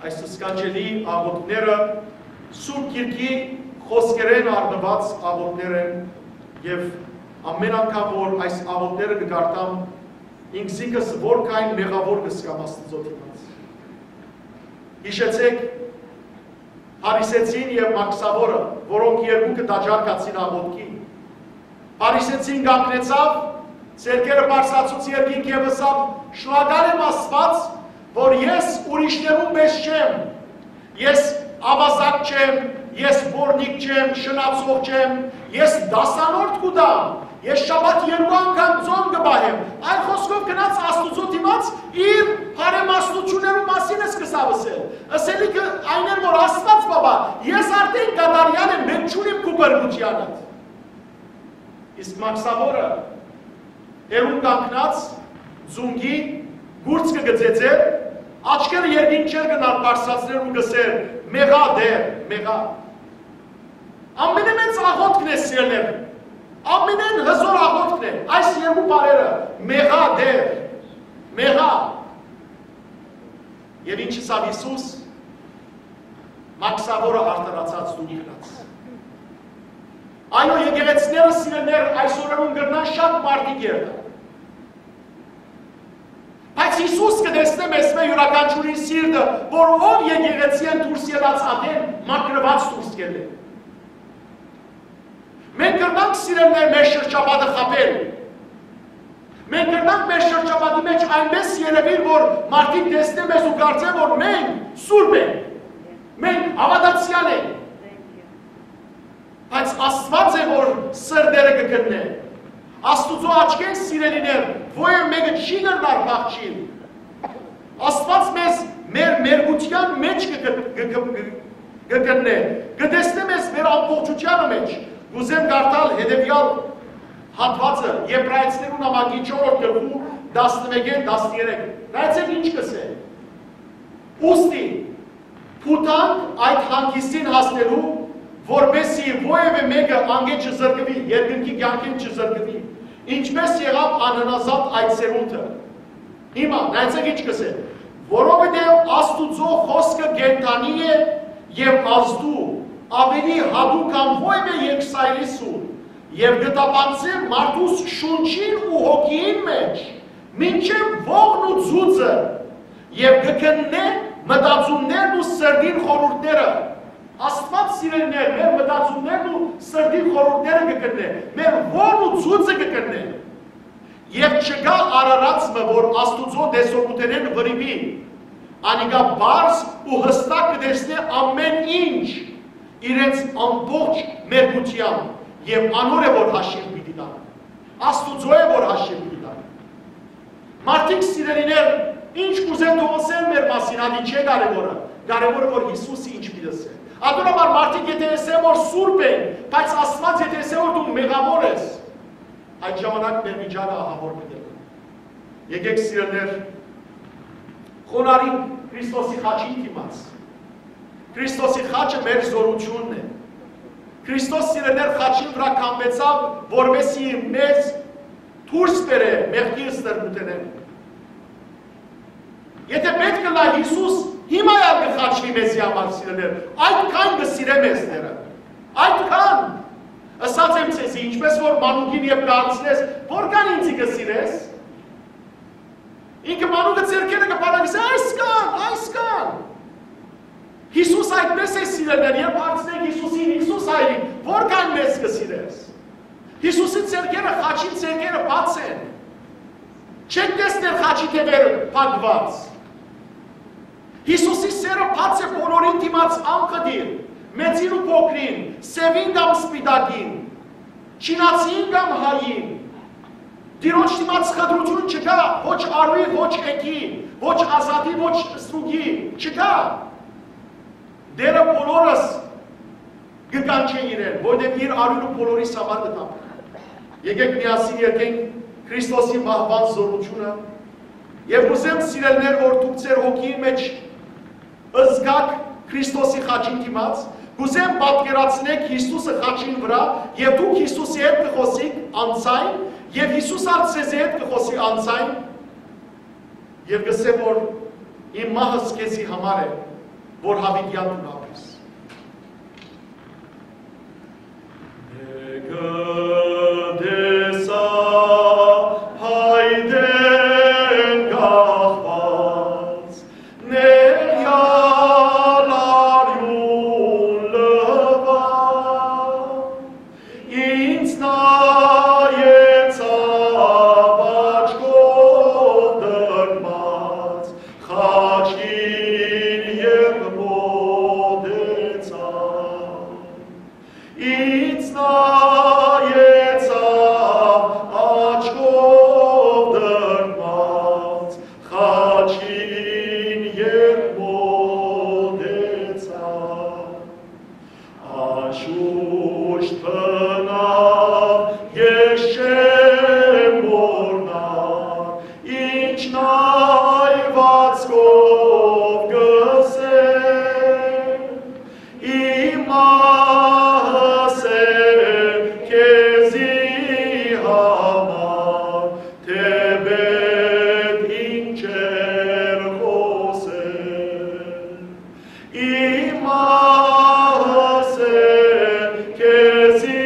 այս սքանչելի աղօթքները Սուրբ Գիրքի խօսքերէն առնուած աղօթքներ են, եւ ամէն անգամ որ այս աղօթքները կը կարդամ, ինքզինքս որքան մեղաւոր կը զգամ Աստուծոյ դիմաց։ Յիշեցէք, Փարիսեցին եւ Մաքսաւորը, որոնք երկուքը տաճար գացին աղօթքի։ Փարիսեցին կանգնեցաւ, ձեռքերը բարձրացուց երկինք եւ ըսաւ. «Շնորհակալ եմ, Աստուած, որ ես ուրիշներուն պէս չեմ։ Ես աւազակ չեմ, ես պոռնիկ չեմ, շնացող չեմ, ես դասանորդ կու տամ, ես շաբաթ երկու անգամ ծոմ կը պահեմ»։ Այլ խօսքով, գնաց Աստուծոյ դիմաց, իր բարեմասնութիւններու մասին ես կը սաւսել։ Ըսելիքը այն էր, որ Աստուած, բաբա, ես արդէն կատարեալ եմ, մէկ չունիմ քու փրկութեանդ։ Իսկ Մաքսաւորը հեռուն կանգնած, ծունկի, կուրծքը կը ծեծէր, աչքերը երկինք չէր գնար բարձրացնել ու կ'ըսէր. «Մեղա, Տէր, մեղա»։ Ամենէն մեծ աղօթքն է, սիրելիներ, ամենէն հզօր աղօթքն է այս երկու բառերը. «Մեղա, Տէր, մեղա»։ Եւ ինչ ըսաւ Յիսուս, Մաքսաւորը արդարացած դուրս գնաց։ Այո, եկեղեցիները, սիրելիներ, այսօրերուն կրնան շատ մարդիկ երթան։ Բայց Յիսուս կը տեսնէ մեզմէ յուրաքանչիւրին սիրտը, որ ով եկեղեցիէն դուրս ելած ատեն մաքրուած դուրս կ'ելլէ։ Մենք կրնանք, սիրելիներ, մեր շրջապատը խաբել։ Մենք կրնանք մեր շրջապատի մէջ այնպէս երեւիլ, որ մարդիկ տեսնեն մեզ ու կարծեն, որ մենք սուրբ ենք, մենք հաւատացեալ ենք։ Բայց Աստուած է, որ սրտերը կը քննէ։ Աստուծոյ աչքէն, սիրելիներ, ոեւ մէկը չի կրնար փախչիլ։ Աստուած մեզ մեր մերկութեան մէջ կը, կը, կը, կը, կը գտնէ, կը տեսնէ մեզ մեր ամբողջութեանը մէջ։ Կ'ուզեմ կարդալ հետեւեալ հատուածը Եբրայեցիներու նամակի չորրորդ գլխու տասնմէկէն տասներեք։ Նայեցէք ինչ կ'ըսէ. «Ուստի փութանք այդ հանգիստին հասնելու, որպեսզի որեւէ մէկը անկէ չզրկուի, երկնքի կեանքէն չզրկուի, ինչպէս եղաւ անհնազանդ այդ սերունդը»։ Հիմա նայեցեք ինչ կ'ըսէ. «Որովհետեւ Աստուծոյ խօսքը կենդանի է եւ ազդու, աւելի յատուկ քան որեւէ երկսայրի սուր, եւ կը տապանցէ մարդուս շունչին ու հոգիին մէջ, մինչեւ ողն ու ծուծը, եւ կը քննէ մտածումներն ու սրտին խորհուրդները»։ Աստուած, սիրելիներ, մեր մտածումներն ու սրտին խորհուրդները կը քննէ, մեր ողն ու ծուծը կը քննէ։ Եւ չկայ արարած մը, որ Աստուծոյ տեսողութենէն վրիպի։ Անիկա պարզ ու յստակ կը տեսնէ ամէն ինչ իրենց ամբողջ մերկութեամբ, եւ անոր է, որ հաշիւ պիտի տան։ Աստուծոյ է, որ հաշիւ պիտի տան։ Մարդիկ, սիրելիներ, ինչ կ'ուզեն թող ըսեն մեր մասին, ատի չէ կարեւորը։ Կարեւորը, որ Յիսուսը ինչ պիտի ըսէ։ Ատոր համար մարդիկ եթէ ըսեն, որ սուրբ են, բայց Աստուած եթէ ըսէ, որ դու մեղաւոր ես, այդ ժամանակ մեր վիճակը ահաւոր պիտի ըլլայ։ Եկեք, սիրելիներ, խոնարհենք Քրիստոսի խաչին դիմաց։ Քրիստոսի խաչը մեր զօրութիւնն է։ Քրիստոս, սիրելիներ, խաչին վրայ քամուեցաւ, որպեսզի մեզ դուրս բերէ մեղքի ստրկութենէն։ Եթէ պէտք ըլլայ, Յիսուս հիմա ալ կը խաչուի մեզի համար, սիրելիներ, այդքան կը սիրէ մեզ Տէրը, այդքան։ Ըսած եմ ձեզի, ինչպէս որ մանուկին երբ կհարցնես, որքան ինծի կը սիրես, Ինքը մանուկը ձեռքերը կը պարագսէ, «Այս կան, այս կան»։ Յիսուս այդպես է սիրելներ, երբ հարցնենք Յիսուսին, «Յիսուս հայրիկ, որքան մեզ կը սիրես»։ Յիսուսի ձեռքերը, խաչին ձեռքերը բաց են։ Չեք տեսներ խաչի թեւերը փակուած։ Յիսուսի սերը բաց է բոլորին դիմաց անխտիր, մեծին ու փոքրին, սեւին կամ սպիտակին, չինացին կամ հային։ Տիրոջ դիմաց խտրութիւն չկայ, ոչ արուի, ոչ էգի, ոչ ազատի, ոչ ստրուկի, չկայ։ Տէրը բոլորս կը կանչէ իրեն, որտեղ իր արիւնը բոլորիս համար կը տապի։ Եկեք միասին երգենք Քրիստոսի մահուան զորութիւնը, եւ կ'ուզեմ, սիրելիներ, որ դուք ձեր հոգիի մէջ զգաք Քրիստոսի խաչին դիմաց, կ'ուզեմ պատկերացնեք Յիսուսը խաչին վրայ, եւ դուք Յիսուսի հետ կը խօսիք անձայն, եւ Յիսուս ալ ձեզի հետ կը խօսի անձայն, եւ կ'ըսէ, որ իմ մահս քեզի համար է, որ յաւիտեան դու ապրես։ Մեկը տեսայ հայտէն կախուած, ներեալ արիւն լուայ, ինձ նայեցաւ աչքով տրտմած, խաչին ետք մօտեցաւ։ Ինձ նայեցաւ աչքով տրտմած, խաչին ետք մօտեցաւ։ Անշուշտ բնաւ ես չեմ մոռնար, ինչ նայուածքով կ'ըսէ, իմ մահս է քեզի համար, թէպէտ ինչեր խօսել։ Իմ մահս է քեզի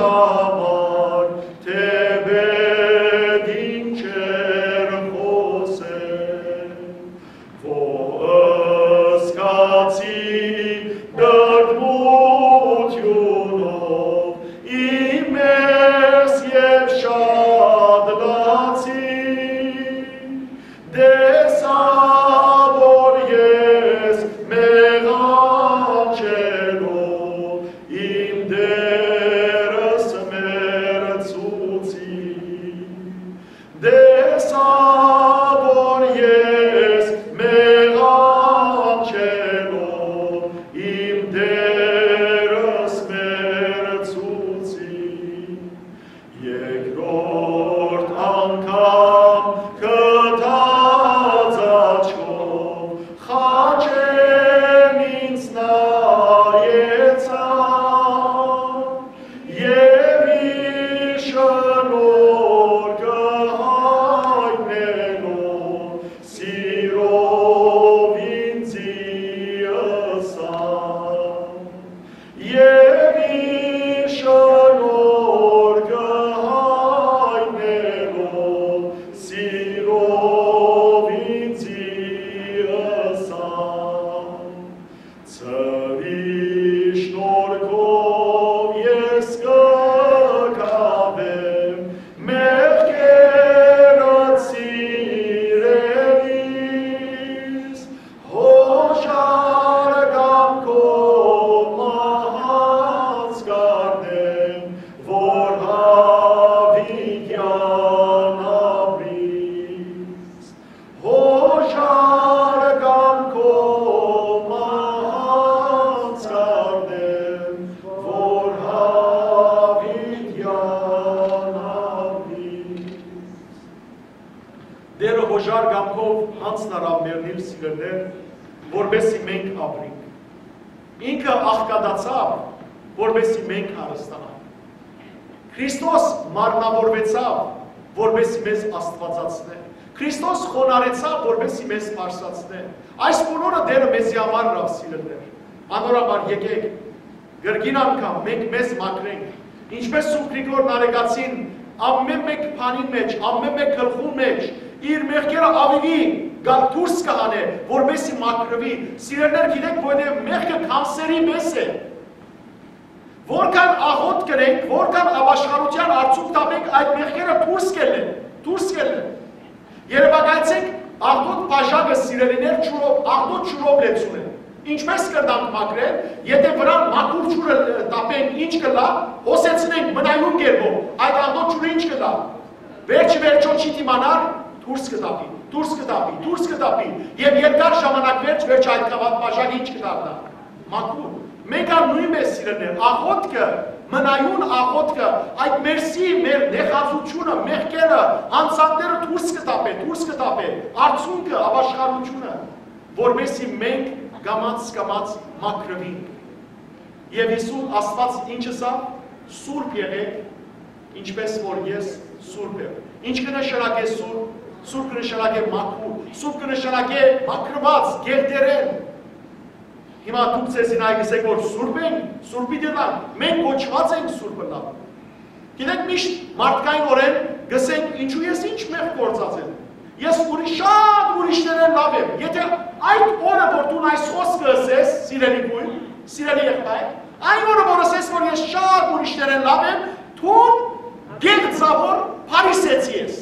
համար, թէպէտ ինչեր խօսել, որ զգացի տրտմութիւնով իմ մեզ եւ շատ լացի, տեսայ, որ ես մեղանչելով իմ Տէրս մերձեցի։ Տեսայ, որ ես մեղանչելով իմ Տէրս մերձեցի։ Երկրորդ անգամ կտրած աչքով խաչէն ինձ նայեցաւ եւ իր շնորհքը հայտնելով սիրով ինծի ըսաւ։ Եւ իր շնորհքը հայտնելով սիրով ինծի ըսաւ։ Ցաւի շնորհքով ես կը գաւեմ մեղքերս սիրելիս, Հօժար կամքով մահանց կ'առնեմ, որ յաւիտեան ապրիս։ Հօժար կամքով մահանց կ'առնեմ, որ յաւիտեան ապրիս։ Տէրը հօժար կամքով յանձն առաւ մեռնիլ, սիրելիներ, որպէսզի մենք ապրենք։ Ինքը աղքատացաւ, որպէսզի մենք հարստանանք։ Քրիստոս մարմնավորուեցաւ, որպէսզի մեզ աստուածացնէ։ Քրիստոս խոնարհեցաւ, որպէսզի մեզ բարձրացնէ։ Այս բոլորը Տէրը մեզի համար ըրաւ, սիրելիներ։ Անոր համար եկէք, կրկին անգամ մենք մեզ մաքրենք, ինչպես Սուրբ Գրիգոր Նարեկացին ամէն մէկ բանին մէջ, ամէն մէկ գլխուն մէջ իր մեղքերը աւելի կա դուրս կը հանէ, որպեսզի մաքրուի։ Սիրելիներ, գիտեք, որովհետեւ մեղքը կանսերի պես է։ Որքան աղօթք կ'ընենք, որքան ապաշխարութեան արդիւնք տապենք, այդ մեղքերը դուրս կ'ելլեն, դուրս կ'ելլեն։ Երեւակայեցէք աղտոտ բաժակը, սիրելիներ, ջուրով, աղտոտ ջուրով լեցուն է։ Ինչպե՞ս կրնանք մաքրել, եթէ վրան մաքուր ջուրը տապենք, ինչ կ'ըլլայ, հոսեցնենք մնայուն կերպով, այդ աղտոտ ջուրը ինչ կ'ըլլայ։ Վերջը վերջոյ չի դիմանար, դուրս կը տապի, դուրս կը տապի, դուրս կը տապի, եւ երկար ժամանակ վերջ, վերջ այդ գաւաթ բաժակը ինչ կը դառնայ։ Մաքուր։ Մենք ալ նոյնպէս, սիրելիներ, աղօթքը, մնայուն աղօթքը, այդ մերսի մեր նեղացութիւնը, մեղքերը, յանցանքները դուրս կը տապէ, դուրս կը տապէ, արդիւնքը, ապաշխարութիւնը, որպեսզի մենք կամաց-կամաց մաքրուինք։ Եւ Յիսուս Աստուած ինչ ըսաւ, սուրբ եղէք, ինչպէս որ ես սուրբ եմ։ Ինչ կը նշանակէ սուրբ, սուրբ կը նշանակէ մաքուր, սուրբ կը նշանակէ մաքրուած, գեղտերեն։ Հիմա դուք ձեզի նայ կ'ըսէք, որ սուրբ ենք, սուրբի դենանք, մենք կոչուած ենք սուրբ ըլլալ։ Գիտեք, միշտ մարդկայինօրէն կ'ըսենք, ինչու ես ինչ մեղք գործած եմ։ Ես ուրիշ, շատ ուրիշներէն լաւ եմ։ Եթէ այդ օրը, որ դուն այս խոսքը ըսես, սիրելի գոյն, սիրելի եղբայր, այն օրը, որ ըսես, որ ես շատ ուրիշներէն լաւ եմ, դուն կեղծաւոր փարիսեցի ես։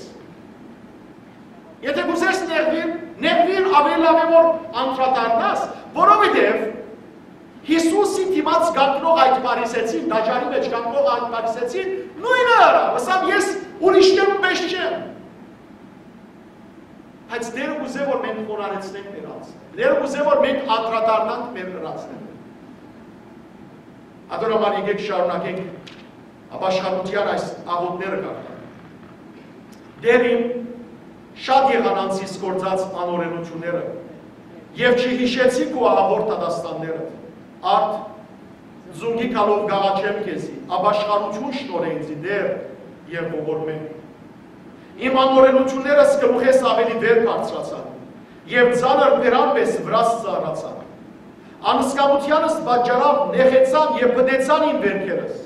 Եթէ կ'ուզես նեղուիլ, նեղուիլ, աւելի լաւ է որ անդրադառնաս, որովհետեւ Յիսուսի դիմաց կանգնող այդ փարիսեցին, տաճարի մէջ կանգնող այդ փարիսեցին նոյնը ըրաւ, ըսաւ, ես ուրիշներուն պէս չեմ։ Բայց Տէրը կ'ուզէ որ մենք խոնարհեցնենք մեր անձը։ Տէրը կ'ուզէ որ մենք անդրադառնանք մեր ըրածներուն։ Ատոր համար եկեք շարունակենք ապաշխարութեան այս աղօթքները կարդալ։ Տէր իմ, շատ եղան անցիս գործած անօրենութիւնները, եւ չյիշեցի քու ահաւոր դատաստանները։ Արդ, զունգի գալով կ'աղաչեմ քեզի, ապաշխարութիւն շնորհէ ինծի, Տէր, եւ ողորմէ։ Իմ անօրենութիւններս գլուխէս աւելի վեր բարձրացան, եւ ծանր բերան պէս վրաս ծառացան։ Անսկամութեանս պատճառաւ նեղեցան եւ պտեցան իմ վէրքերս։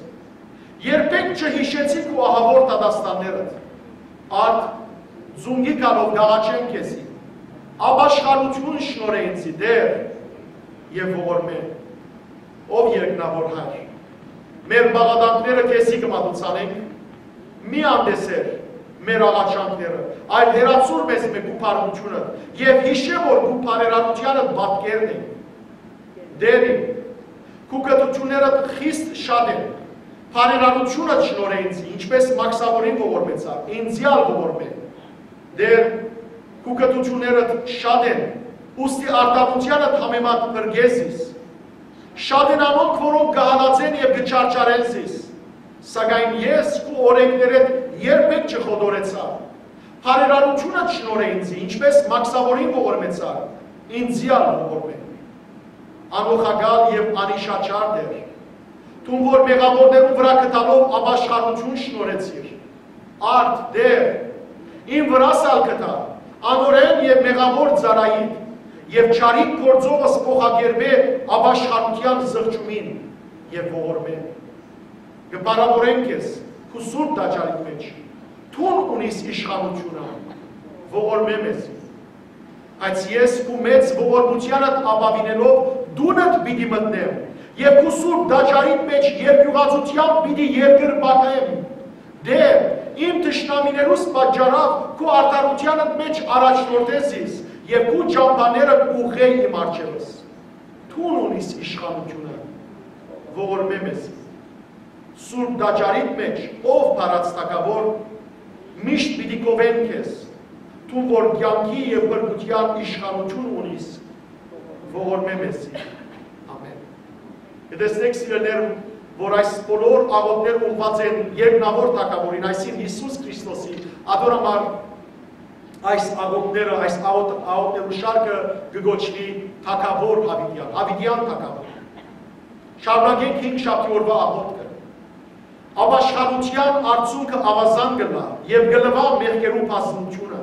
Երբեք չյիշեցի քու ահաւոր դատաստաններդ։ Արդ, զունգի գալով կ'աղաչեմ քեզի, ապաշխարութիւն շնորհէ ինծի, Տէր, եւ ողորմէ։ Ով երկնաւոր Հայր, մեր բաղարանքները քեզի կը մատուցանենք, մի անտեսեր մեր աղաչանքները, այլ հեռացուր մեզմէ քու բարօրութիւնը եւ յիշէ որ քու բարերարութեանդ պատկերն ենք։ Տէր իմ, քու կրթութիւններդ խիստ շատ են, բարերարութիւնդ շնորհէ ինձ, ինչպէս մաքսաւորին ողորմեցաւ, ինձի ալ ողորմէ։ Տէր, քու կրթութիւններդ շատ են, ուստի արտավունքեանդ համեմատ փրկէ զիս։ Շատ են անոնք, որոնք կը հալածեն եւ կը չարչարեն զիս, սակայն ես քու օրէնքներէդ երբեք չխոտորեցայ։ Բարերարութիւնդ շնորհէ ինձի, ինչպէս մաքսաւորին ողորմեցաւ, ինձի ալ ողորմէ։ Անօղակալ եւ անիշաչար Տէր, դուն որ մեղաւորներուն վրայ գտալով ապաշխարութիւն շնորհեցիր, արդ, Տէր, իմ վրաս ալ գտայ, անօրէն եւ մեղաւոր ծառայիդ, եւ չարիք գործովս փոխակերպէ ապաշխարութեան զղջումին եւ ողորմէ։ Կը փառաւորենք քեզ քու սուրբ տաճարիդ մէջ, դուն ունիս իշխանութիւնը, ողորմէ մեզի։ Բայց ես քու մեծ ողորմութեանդ ապաւինելով դունդ պիտի մտնեմ եւ քու սուրբ տաճարիդ մէջ երկիւղածութեամբ պիտի երկրպագեմ։ Տէր, իմ թշնամիներուս պատճառաւ քու արդարութեանդ մէջ առաջնորդէ զիս եւ քու ճամբաներդ ուղղէ իմ առջեւս։ Դուն ունիս իշխանութիւնը, ողորմէ մեզի։ Սուրբ տաճարիդ մէջ, ով փառած թագաւոր, միշտ պիտի գովեն քեզ, դուն որ կեանքի եւ փրկութեան իշխանութիւն ունիս, ողորմէ մեզի։ Ամէն։ Կտեսնեք, սիրելիներ, որ այս բոլոր աղօթքները ուղղուած են երկնաւոր թագաւորին, այսինքն Յիսուս Քրիստոսի, ատոր համար այս աղօթքները, այս աղօթ-, աղօթքներու շարքը կը կոչուի թագաւոր Յաւիտեան, Յաւիտեան թագաւոր։ Շարունակենք հինգ շաբթի օրուայ աղօթքը։ Ապաշխարութեան արդիւնքը աւազան կ'ըլլայ եւ կը լուայ մեղքերու բազմութիւնը։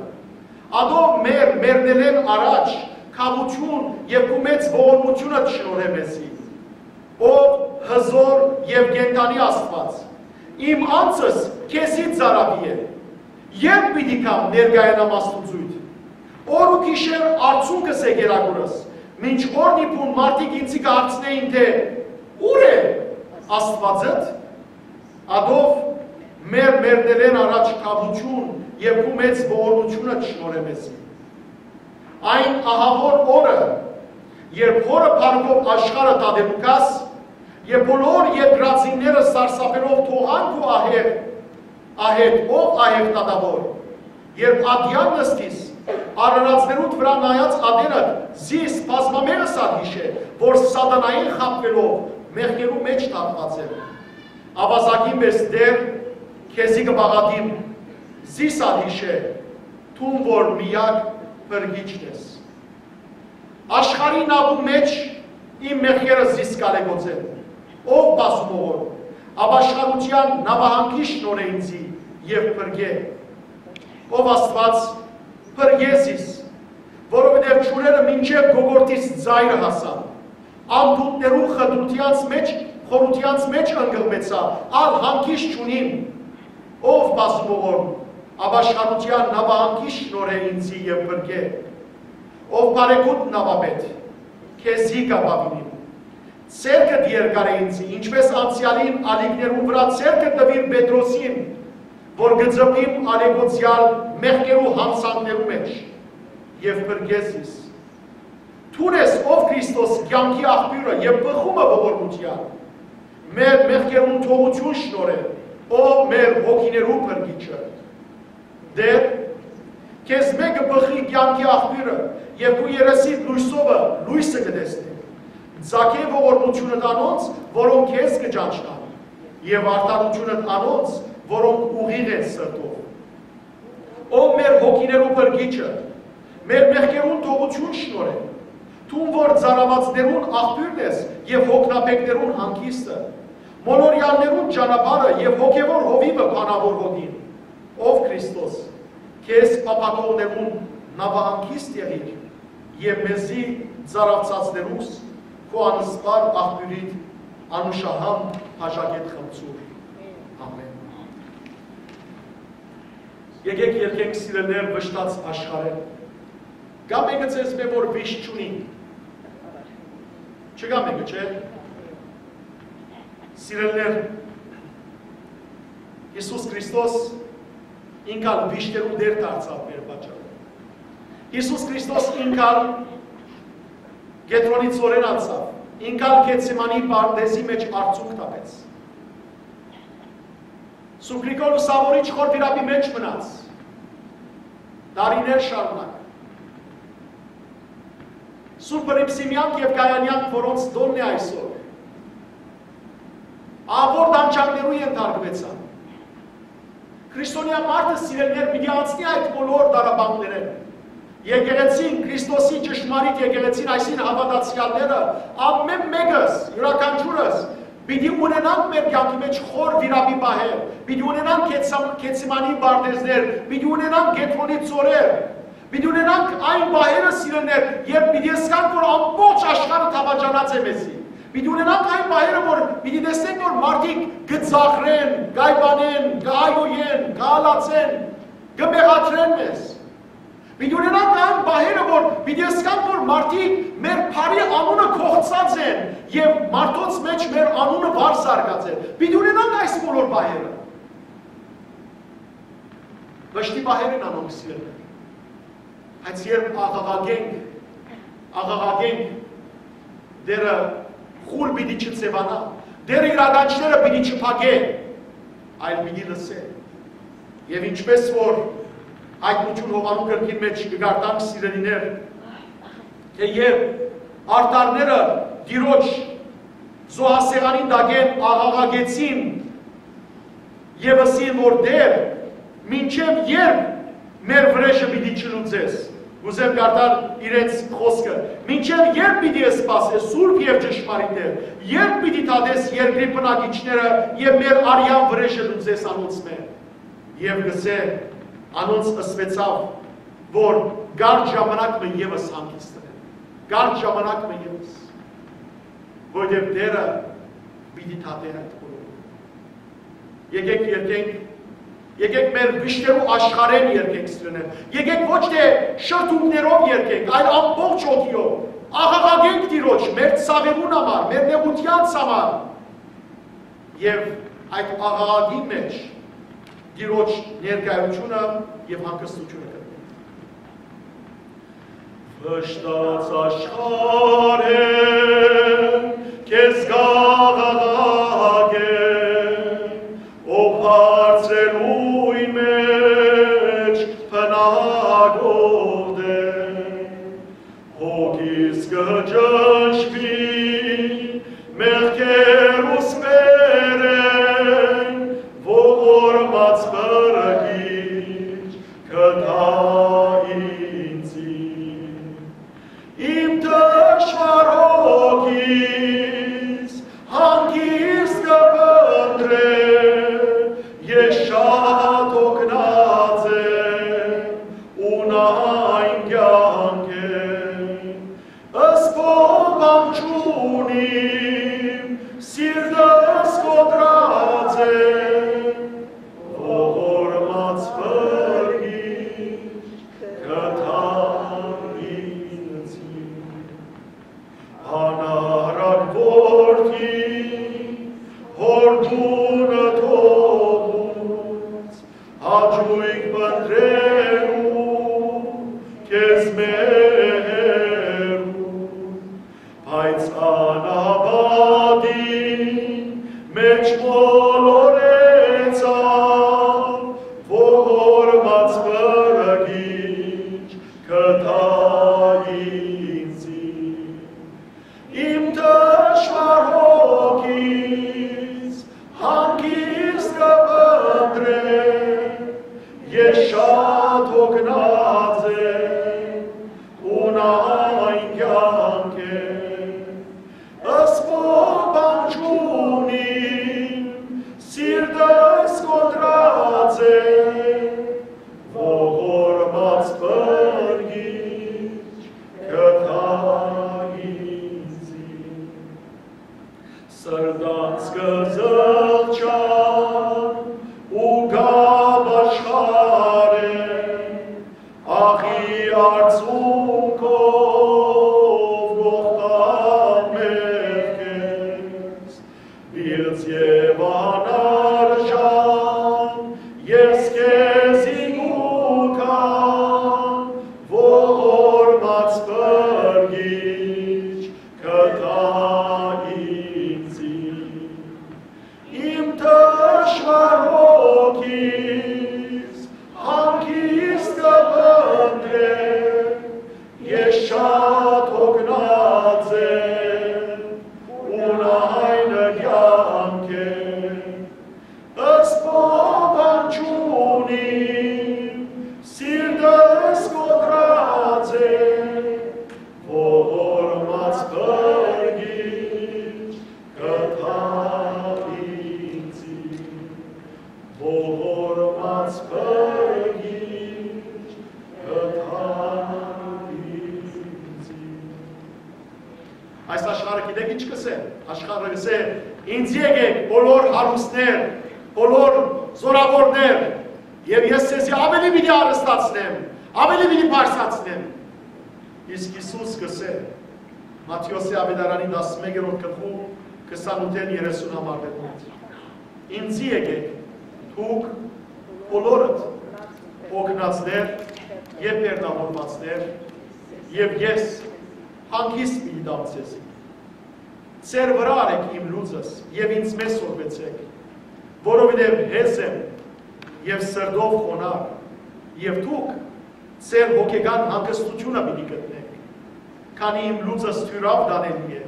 Ատոր մեր մեռնելէն առաջ քաւութիւն եւ քու մեծ ողորմութիւնդ շնորհէ մեզի, ով հզօր եւ կենդանի Աստուած, իմ անձս քեզի ծառաւի է։ Երբ պիտի գամ ներկայանամ Աստուծոյդ, օր ու գիշեր արցունքս է կերակուրս, մինչ օրն ի բուն մարդիկ ինձի կը հարցնէին թէ «Ո՞ւր է»։ Աստուածդ, ատով մեր մեռնելէն առաջ քաւութիւն եւ քու մեծ ողորմութիւնը չշնորհէ մեզի։ Այն ահաւոր օրը, երբ Հօրը փառքով աշխարհը դատելու գաս, եւ բոլոր երկրածինները սարսափելով թողան քու ահեղ, ահետ, ով ահեղ դատաւոր, երբ ատեան նստիս, արարածներուդ վրայ նայած ատենդ, զիս բազմամեզս ալ յիշէ, որ սատանային խաբուելով մեղքերու մէջ թաղուած եմ։ Աւազակին պէս Տէր, քեզի կը պաղատիմ, զիս ալ յիշէ, դուն որ միակ փրկիչն ես։ Աշխարհի նաւու մէջ իմ մեղքերը զիս կ'ալեկոծեն, ով բազում ողոր, ապաշխարութեան նաւահանգիչ շնորհէ ինձի եւ փրկէ։ Ով Աստուած, փրկէ զիս, որովհետեւ ջուրերը մինչեւ կոկորդիս ծայրը հասան, ամբուտներու խտրութեանց մէջ, խորութեանց մէջ ընկղմեցայ, ալ հանգիստ չունիմ։ Ով բազում ողոր, ապաշխարութեան նաւահանգիչ շնորհէ ինձի եւ փրկէ։ Ով բարեգութ նաւապետ, քեզի կ'ապաւինիմ։ Ձեռքդ երկարէ ինձի, ինչպէս անցեալին ալիքներուն վրայ ձեռքը տուիր Պետրոսին, որ կը ծփիմ ալեկոծեալ մեղքերու յանցանքներու մէջ, եւ փրկէ զիս։ Դուն ես, ով Քրիստոս, կեանքի աղբիւրը եւ բխումը ողորմութեան, մեր մեղքերուն թողութիւն շնորհէ, ով մեր հոգիներու փրկիչը։ Տէր, քեզմէ կը բխի կեանքի աղբիւրը, եւ քու երեսիդ լոյսովը լոյսը կը տեսնեն։ Ծագէ ողորմութիւնդ անոնց, որոնք քեզ կը ճանչնան, եւ արդարութիւնդ անոնց, որոնք ուղիղ են սրտով։ Ով մեր հոգիներու փրկիչը, մեր մեղքերուն թողութիւն շնորհէ, դուն որ ծարաւածներուն աղբիւրն ես եւ հոգնաբեկներուն հանգիստը, մոլորեալներուն ճանապարհը եւ հոգեւոր հովիւը բանաւոր հոգին, ով Քրիստոս, քեզ փափաքողներուն նաւահանգիստ եղիր եւ մեզի ծարաւցածներուս քու անսպառ աղբիւրիդ անուշահամ բաժակէդ խմցուր։ Ամէն։ Եկէք երգենք, սիրելիներ, վշտաց աշխարհէն։ Կա մէկը ձեզմէ, որ վիշտ չունի։ Չկա մէկը, չէ՞։ Սիրելիներ, Յիսուս Քրիստոս ինք ալ վիշտերուն Տէր դարձաւ մեր պատճառով։ Յիսուս Քրիստոս ինք ալ Կեդրոնի ծորեն անցաւ, ինք ալ Գեթսեմանի պարտեզի մէջ արցունք թափեց։ Սուրբ Գրիգոր Լուսաւորիչ խոր վիրապի մէջ մնաց դարիներ շարունակ։ Սուրբ Հռիփսիմեանք եւ Գայանեանք, որոնց տօնն է այսօր, ահաւոր տանջանքներու ենթարկուեցան։ Քրիստոնեայ մարդը, սիրելիներ, պիտի անցնի այդ բոլոր տառապանքներէն։ Եկեղեցին, Քրիստոսի ճշմարիտ եկեղեցին, այսինքն՝ հաւատացեալները, ամէն մէկս, իւրաքանչիւրս, պիտի ունենանք մեր կեանքի մէջ խոր վիրապի պահեր, պիտի ունենանք Գեթսեմ-, Գեթսեմանի պարտեզներ, պիտի ունենանք Կեդրոնի ծորեր, պիտի ունենանք այն պահերը, սիրելիներ, երբ պիտի զգանք, որ ամբողջ աշխարհը դաւաճանած է մեզի։ Պիտի ունենանք այն պահերը, որ պիտի տեսնենք, որ մարդիկ կը ծաղրեն, կ'այպանեն, կ'այոյեն, կ'ալացեն, կը մեղադրեն մեզ։ Պիտի ունենանք այն պահերը, որ պիտի զգանք, որ մարդիկ մեր բարի անունը կոխցած են եւ մարդոց մէջ մեր անունը վար զարկած է։ Պիտի ունենանք այս բոլոր պահերը։ Վշտի պահեր են անոնք, սիրելիներ։ Բայց երբ աղաղակենք, աղաղակենք, Տէրը խուլ պիտի չձեւանայ, Տէրը իւրաքանչիւրը պիտի չփակէ, այլ պիտի լսէ։ Եւ ինչպէս որ Հայտնութիւն Յովհաննու գրքին մէջ կը կարդանք, սիրելիներ, թէ երբ արդարները Տիրոջ զոհասեղանին տակէն աղաղակեցին, եւ ըսին, որ Տէր, մինչեւ ե՞րբ մեր վրեժը պիտի չլուծես։ Կ'ուզեմ կարդալ իրենց խօսքը. «Մինչեւ ե՞րբ պիտի սպասես, սուրբ եւ ճշմարիտ Տէր, ե՞րբ պիտի դատես երկրի բնակիչները եւ մեր արեան վրեժը լուծես անոնցմէ»։ Եւ կ'ըսէ. «Անոնց ըսուեցաւ, որ կարճ ժամանակ մը եւս հանգիստ ընեն, կարճ ժամանակ մը եւս, որովհետեւ Տէրը պիտի դատէ այդ բոլորը»։ Եկէք երգենք Եկեք մեր վիշտերու աշխարհէն երգենք, սիրելիներ։ Եկեք ոչ թէ շրթունքներով երգենք, այլ ամբողջ հոգիով։ Աղաղակենք Տիրոջ մեր ցաւերուն համար, մեր նեղութեանց համար։ Եւ այդ աղաղակին մէջ Տիրոջ ներկայությունը եւ հանգստությունը գտնենք։ Վշտաց աշխարհէն քեզ կ'աղաղակեմ, ով հարցերուն մէջ բնակող է։ Հոգիս կը ճնշուի մեղքերուս վերէն, ողորմած փրկիչ, գտա ինձի։ Իմ թշուառ հոգիս հանգիստ կը փնտռէ, ես շատ հոգնած եմ, ունայն կեանք է։ Սփոփան չունիմ, սիրտս կոտրած է, ողորմած փրկիչ, գտա ինձի։ Անառակ որդի, հոր տունը թողուց, հաճոյք փնտռելու քեզ մերու, բայց անապատին մէջ մոլորեցաւ, ողորմած փրկիչ, գտա ինձի։ Իմ թշուառ հոգիս հանգիստ կը փնտռէ, ես շատ հոգնած եմ, ունայն կեանք է։ Սփոփան չունիմ, սիրտս կոտրած է, ողորմած փրկիչ, գտա ինձի։ Սրտանց կը զղջան ու կ'ապաշխարեն, աղի արցունքով կ'ողբամ մեղքերս, պիղծ եւ անարժան ես քեզի կու գամ, ողորմած փրկիչ, գտա ինձի։ Իմ թշուառ հոգիս հանգիստ կը փնտռէ, ես շատ հոգնած եմ, ունայն կեանք է։ Սփոփան չունիմ, սիրտս կոտրած է, ողորմած փրկիչ, գտա ինձի, ողորմած փրկիչ, գտա ինձի։ Այս աշխարհը գիտեք ինչ կ'ըսէ։ Աշխարհը կ'ըսէ. «Ինձի եկէք, բոլոր հարուստներ, բոլոր զօրաւորներ, եւ ես ձեզի աւելի պիտի հարստացնեմ, աւելի պիտի բարձրացնեմ»։ Իսկ Յիսուս կ'ըսէ Մատթէոսի աւետարանի տասնմեկերորդ գլխու քսանութ երեսուն համարներուն մէջ. «Ինձի եկէք, դուք բոլորդ հոգնածներ եւ բեռնավորուածներ, եւ ես հանգիստ պիտի տամ ձեզի։ Ձեր վրայ առէք իմ լուծս եւ ինձմէ սորվեցէք, որովհետեւ հեզ եմ եւ սրտով խոնարհ, եւ դուք ձեր հոգեկան հանգստութիւնը պիտի գտնէք, քանի իմ լուծս դիւրաւ տանելի է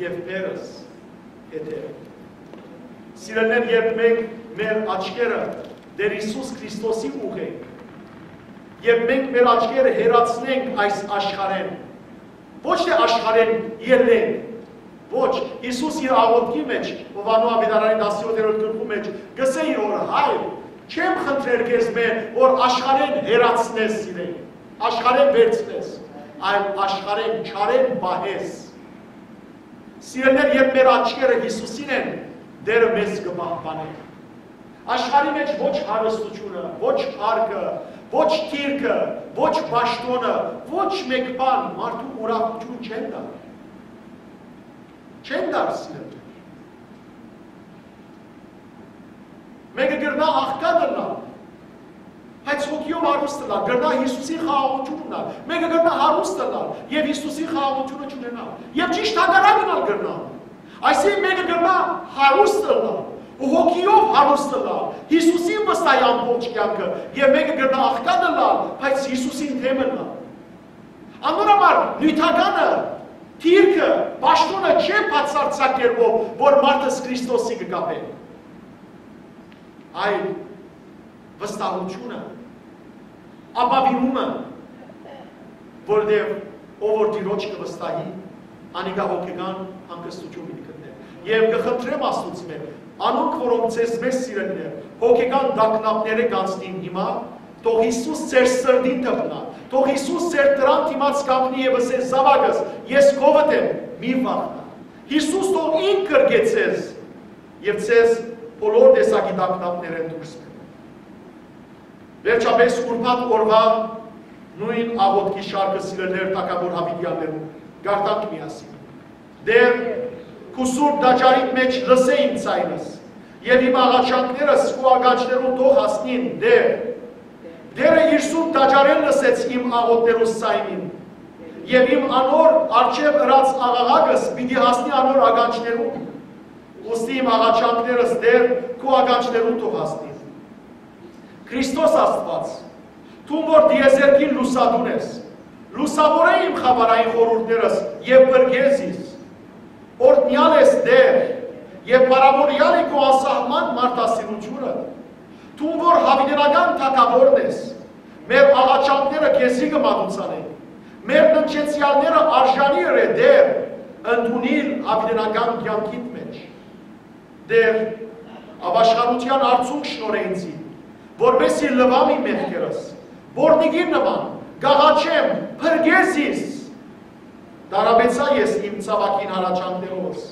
եւ բեռս յեթեր է»։ Սիրելիներ, երբ մենք մեր աչքերը Տէր Յիսուս Քրիստոսի ուղղենք, երբ մենք մեր աչքերը հեռացնենք այս աշխարհէն, ոչ թէ աշխարհէն ելլենք, ոչ, Յիսուս իր աղօթքի մէջ, Յովհաննէս աւետարանի տասնյոթերորդ գլխու մէջ, կ'ըսէ իր Հօրը. «Հայր, չեմ խնդրեր քեզմէ, որ աշխարհէն հեռացնես զիրենք, աշխարհէն վերցնես, այլ աշխարհէն չարէն պահես»։ Սիրելիներ, երբ մեր աչքերը Յիսուսին են, Տէրը մեզ կը պահպանէ։ Աշխարհի մէջ ոչ հարստութիւնը, ոչ փառքը, ոչ դիրքը, ոչ պաշտօնը, ոչ մէկ բան մարդուն ուրախութիւն չեն տար։ Չեն տար, սիրելիներ։ Մէկը կրնայ աղքատ ըլլալ, բայց հոգիով հարուստ ըլլալ, կրնայ Յիսուսին խաղաղութիւն ունենալ, մէկը կրնայ հարուստ ըլլալ եւ Յիսուսին խաղաղութիւնը չունենալ, եւ ճիշդ հակառակն ալ կրնայ։ Այսինքն, մէկը կրնայ հարուստ ըլլալ ու հոգիով հարուստ ըլլալ, Յիսուսին վստահի ամբողջ կեանքը, եւ մէկը կրնայ աղքատ ըլլալ, բայց Յիսուսին դէմ ըլլալ։ Անոր համար նիւթականը, դիրքը, պաշտօնը չէ բացարձակ կերպով, որ մարդս Քրիստոսի կը կապէ, այլ վստահութիւնը, ապաւինումը, որովհետեւ ով որ Տիրոջ կը վստահի, անիկա հոգեկան հանգստութիւն պիտի գտնէ։ Եւ կը խնդրեմ Աստուծմէ, անոնք, որոնք ձեզմէ սիրելիներ, հոգեկան տագնապներէ կանցնին հիմա, թող Յիսուս ձեր սրտին դպնայ, թող Յիսուս ձեր դրան դիմաց կանգնի եւ ըսէ. «Զաւակս, ես քովդ եմ, մի վախնա»։ Յիսուս թող ինք գրկէ ձեզ եւ ձեզ բոլոր տեսակի տագնապներէն դուրս բերէ։ Վերջապէս, ուրբաթ օրուայ նոյն աղօթքի շարքը, սիրելիներ, թագաւոր յաւիտեաններուն, կարդանք միասին. «Տէր, քու սուրբ տաճարիդ մէջ լսէ իմ ձայնս եւ իմ աղաչանքներս քու ականջներուն թող հասնին, Տէր»։ Տէրը իր սուրբ տաճարէն լսեց իմ աղօթքներուս ձայնին, եւ իմ անոր առջեւ ըրած աղաղակս պիտի հասնի անոր ականջներուն։ Ուստի իմ աղաչանքներս, Տէր, քու ականջներուն թող հասնին։ Քրիստոս Աստուած, դուն որ տիեզերքին լուսատուն ես, լուսաւորէ իմ խաւարային խորհուրդներս եւ փրկէ զիս։ Օրհնեալ ես, Տէր, եւ փառաւորեալ է քու անսահման մարդասիրութիւնը։ Դուն որ յաւիտենական թագաւորն ես, մեր աղաչանքները քեզի կը մատուցանենք, մեր ննջեցեալները արժանի ըրէ, Տէր, ընդունիլ յաւիտենական կեանքիդ մէջ։ Տէր, ապաշխարութեան արցունք շնորհէ ինծի, որպէս զի լուամ իմ մեղքերս, որնիկին նման, կ'աղաչեմ, փրկէ զիս։ Տարապեցայ ես իմ ցաւագին հառաչանքներովս,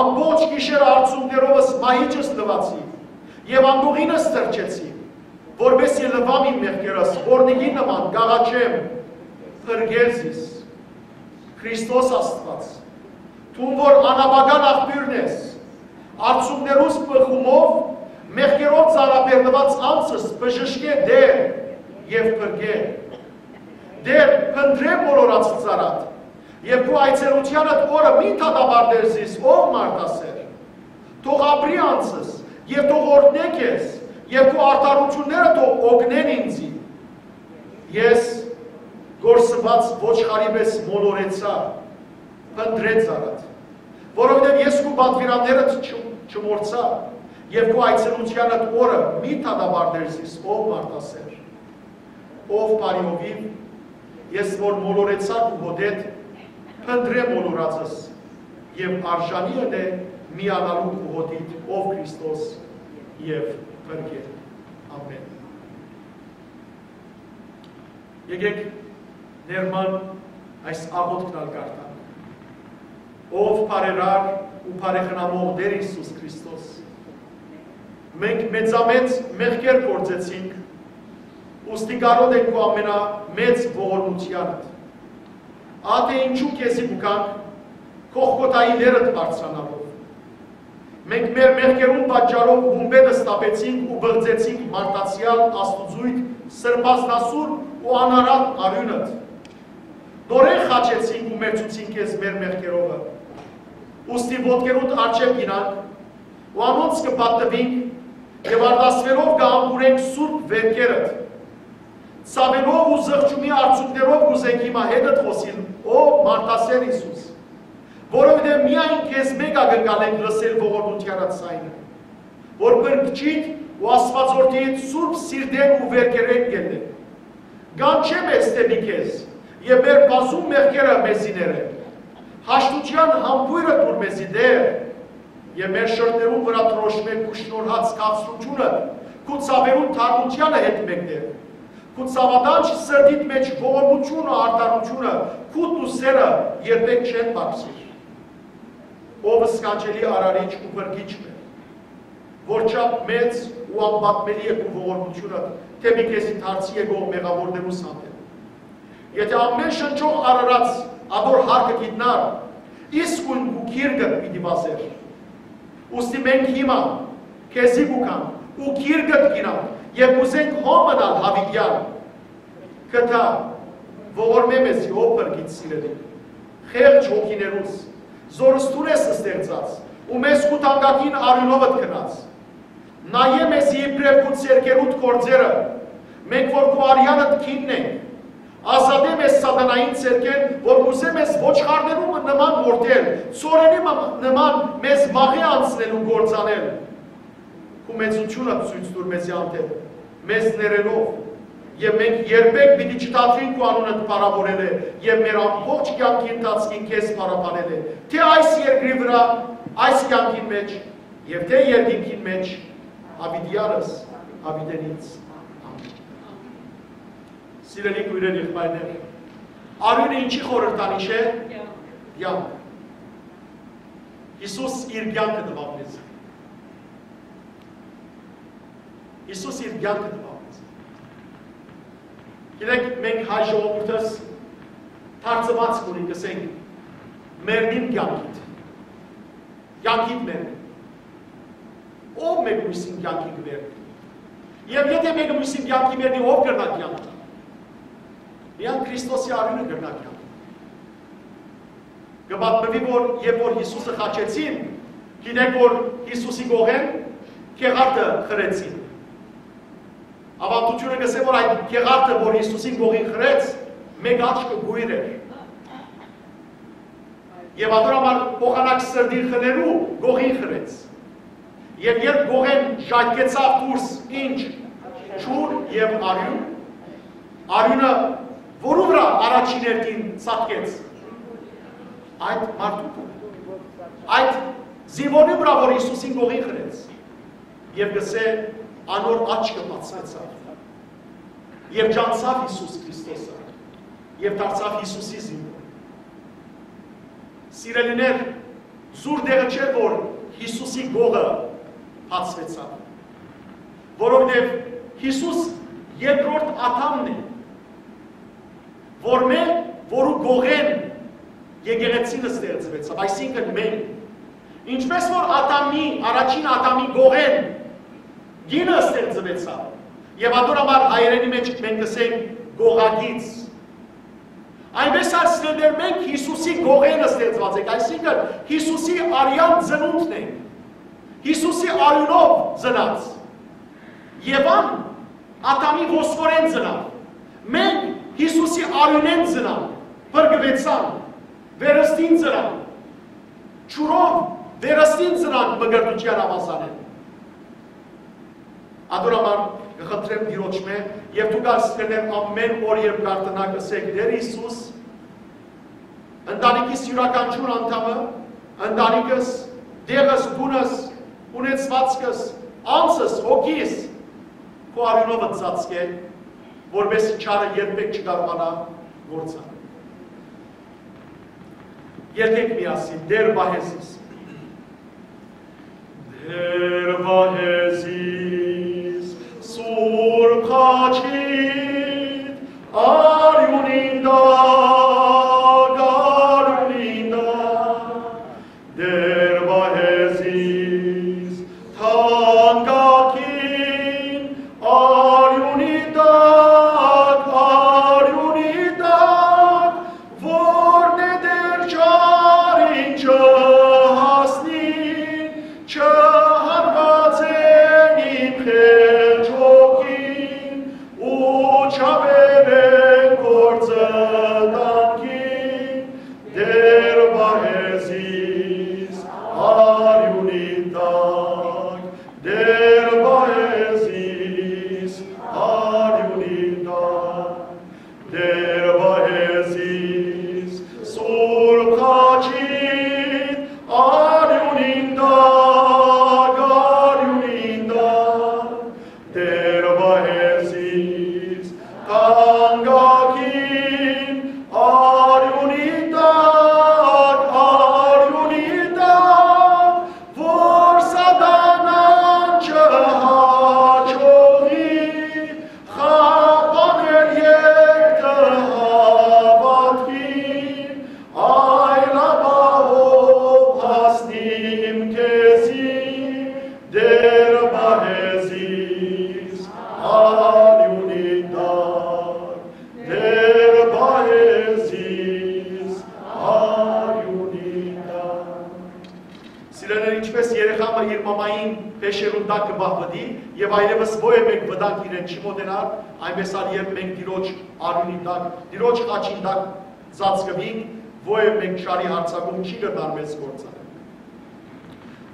ամբողջ գիշեր արցունքներովս մահիճս լուացի եւ անկողինս թռչեցի, որպէս զի լուամ իմ մեղքերս, որնիկին նման, կ'աղաչեմ, փրկէ զիս։ Քրիստոս Աստուած, դուն որ անապական աղբիւրն ես, արցունքներուս բղխումով, մեղքերով ծանրաբեռնուած անձս բժշկէ, Տէր, եւ փրկէ։ Տէր, փնտռէ մոլորած ծառադ, եւ քու այցելութեանդ օրը մի դատապարտեր զիս, ով մարդասէր։ Թող ապրի անձս, եւ թող օրհնէ քեզ, եւ քու արդարութիւնները թող օգնեն ինծի։ Ես կորսուած ոչխարի պէս մոլորեցայ, փնտռէ ծառադ, որովհետեւ ես քու պատուիրաններդ չ-, չմոռցայ, եւ քու այցելութեանդ օրը մի դատապարտեր զիս, ով մարդասէր։ Ով բարի հովիւ, ես որ մոլորեցայ քու հօտէդ, փնտռէ մոլորածս, եւ արժանի ընէ միանալու քու հօտիդ, ով Քրիստոս, եւ փրկէ։ Ամէն։ Եկէք ներման այս աղօթքն ալ կարդանք։ Ով բարերար ու բարեխնամող Տէր Յիսուս Քրիստոս, մենք մեծամեծ մեղքեր գործեցինք, ուստի կարօտ ենք քու ամենամեծ ողորմութեանդ։ Ատե ինչու քեզի կու գանք Գողգոթայի լերդ բարձրանալով։ Մենք մեր մեղքերուն պատճառով հումբետ սթափեցինք ու բղծեցինք մարդացեալ, աստուծոյթ, սրբազնասուր ու անարատ արիւնդ։ Նորէն խաչեցինք ու մերձուցինք քեզ մեր մեղքերովը։ Ուստի ոտքերուդ առջեւ գնանք ու անոնց կը պատտուինք եւ արտասուելով կը համբուրենք սուրբ վերքերդ։ Ցաւերով ու զղջումի արցունքներով կ'ուզենք հիմա հետդ խօսիլ, ով մարդասէր Յիսուս, որովհետեւ միայն քեզմէ կը կալենք լսել ողորմութեանդ ձայնը, որ փրկչիդ ու Աստուածորդիդ սուրբ սիրտէն ու վերքերէն կ'ելլենք։ Կանչէ մեզ դէպի քեզ եւ մեր բազում մեղքերը մեզի ներէ։ Հաշտութեան համբոյրը տուր մեզի, Տէր, եւ մեր շրթներուն վրայ դրոշմէ քու շնորհած քաղցրութիւնը, քու ցաւերուն թարմութեանը հետ մեկտեղ, քու ցաւատանչ սրտիդ մէջ ողորմութիւնը, արդարութիւնը, քու ուսերը երբեք չեն պակսիր։ Ով սքանչելի արարիչ ու փրկիչ մեր, որչափ մեծ ու անպատմելի է քու ողորմութիւնը դէպի քեզի դարձի եկող մեղաւորներուս հանդէպ։ Եթէ ամէն շնչող արարած ատոր հարկը գիտնար, իսկոյն քու գիրկդ պիտի վազէր։ Ուստի մենք հիմա քեզի կու գանք ու գիրկդ կ'ինանք եւ կ'ուզենք հոն մնալ յաւիտեալ։ Գթա, ողորմէ մեզի, ով փրկիչ սիրելի, խեղճ հոգիներուս, զորս դուն ես ստեղծած ու մեզ քու թանկագին արիւնովդ գնաց։ Նայէ մեզի իբրեւ քու ձեռքերուդ գործերը, մենք որ քու արեանդ գինն ենք, ազատէ մեզ սատանային ձեռքէն, որ կ'ուզէ մեզ ոչխարներու մը նման մորթել, ցորենի մը նման մեզ մաղի անցնելու գործանել։ Քու մեծութիւնը ցոյց տուր մեզի հանդէպ, մեզ ներելով, եւ մենք երբեք պիտի չդադրենք քու անունդ փառաւորելը եւ մեր ամբողջ կեանքի ընթացքին քեզ փառաբանելը, թէ այս երկրի վրայ, այս կեանքին մէջ, եւ թէ երկինքին մէջ, յաւիտեալս, յաւիտենից։ Ամէն։ Սիրելի քոյրեր, եղբայրներ, արիւնը ինչի խորհրդանիշ է։ Կեանք։ Յիսուս իր կեանքը տուաւ մեզ։ Յիսուս իր կեանքը տուաւ մեզ։ Գիտեք, մենք հայ ժողովուրդս թարցուած կունի կ'ըսենք. «Մեռնին կեանքիդ, կեանքիդ մեռնին»։ Ո՞վ մէկ մյուսին կեանքի կ'մեռնի։ Եւ եթէ մէկը մյուսին կեանքի մեռնի, ո՞վ կրնայ կեանք տալ։ Միայն Քրիստոսի արիւնը կրնայ կեանք տալ։ Կը պատմուի, որ երբ որ Յիսուսը խաչեցին, գիտեք, որ Յիսուսի կողէն գեղարդը խրեցին։ Աւանդութիւնը կ'ըսէ, որ այդ գեղարդը, որ Յիսուսին կողին խրեց, մէկ աչքը կոյր էր։ Եւ ատոր համար փոխանակ սրտին խրելու կողին խրեց։ Եւ երբ կողէն ժայթքեցաւ դուրս ինչ, ջուր եւ արիւն, արիւնը որու վրայ առաջին հերթին ցատկեց։ Այդ մարդու, այդ զինվորի վրայ, որ Յիսուսին կողին խրեց։ Եւ կ'ըսէ, անոր աչքը բացուեցաւ։ Եւ ճանչցաւ Յիսուս Քրիստոսը։ Եւ դարձաւ Յիսուսի զինվոր։ Սիրելիներ, զուր տեղը չէ, որ Յիսուսի կողը բացուեցաւ, որովհետեւ Յիսուս երկրորդ Ադամն է, որ մէ, որու կողէն եկեղեցին ստեղծուեցաւ, այսինքն մենք, ինչպես որ Ադամի, առաջին Ադամի կողէն կինը ստեղծուեցաւ, եւ ատոր համար հայերէնի մէջ մենք կ'ըսենք կողակից, այնպես ալ սիրելիներ, մենք Յիսուսի կողէն ստեղծուած ենք, այսինքն Յիսուսի արեան ծնունդն ենք, Յիսուսի արիւնով ծնած։ Եվան Ադամի ոսկորէն ծնաւ։ Մենք Յիսուսի արիւնէն ծնանք, փրկուեցանք, վերստին ծնանք, ջուրով վերստին ծնանք մկրտութեան աւազանէն։ Ատոր համար կը խնդրեմ Տիրոջմէ, եւ դուք, սիրելիներ, ամէն օր երբ կարդանաք, ըսէք. «Տէր Յիսուս, ընտանիքիս իւրաքանչիւր անդամը, ընտանիքս, տեղս, տունս, ունեցուածքս, անձս, հոգիս քու արիւնովդ ծածկէ, որպէս չարը երբեք չկարողանայ գործանալ»։ Երգենք միասին. «Տէր պահե զիս»։ Տէր պահե զիս, Սուրբ խաչիդ արիւնին տակ, արիւնին տակ, Տէր պահե զիս, թանկագին արիւնի տակ, արիւնի տակ, որն է Տէր ճառիճը Մային փեշերուն տակ կը պահպնի եւ այլեւս ոեւէ մէկ վտանգ իրեն չի մօտենար, այնպէս ալ երբ մենք Տիրոջ արիւնին տակ, Տիրոջ խաչին տակ ծածկուինք, ոեւէ մէկ չարի յարձակում չի կրնար մեզ կործանել։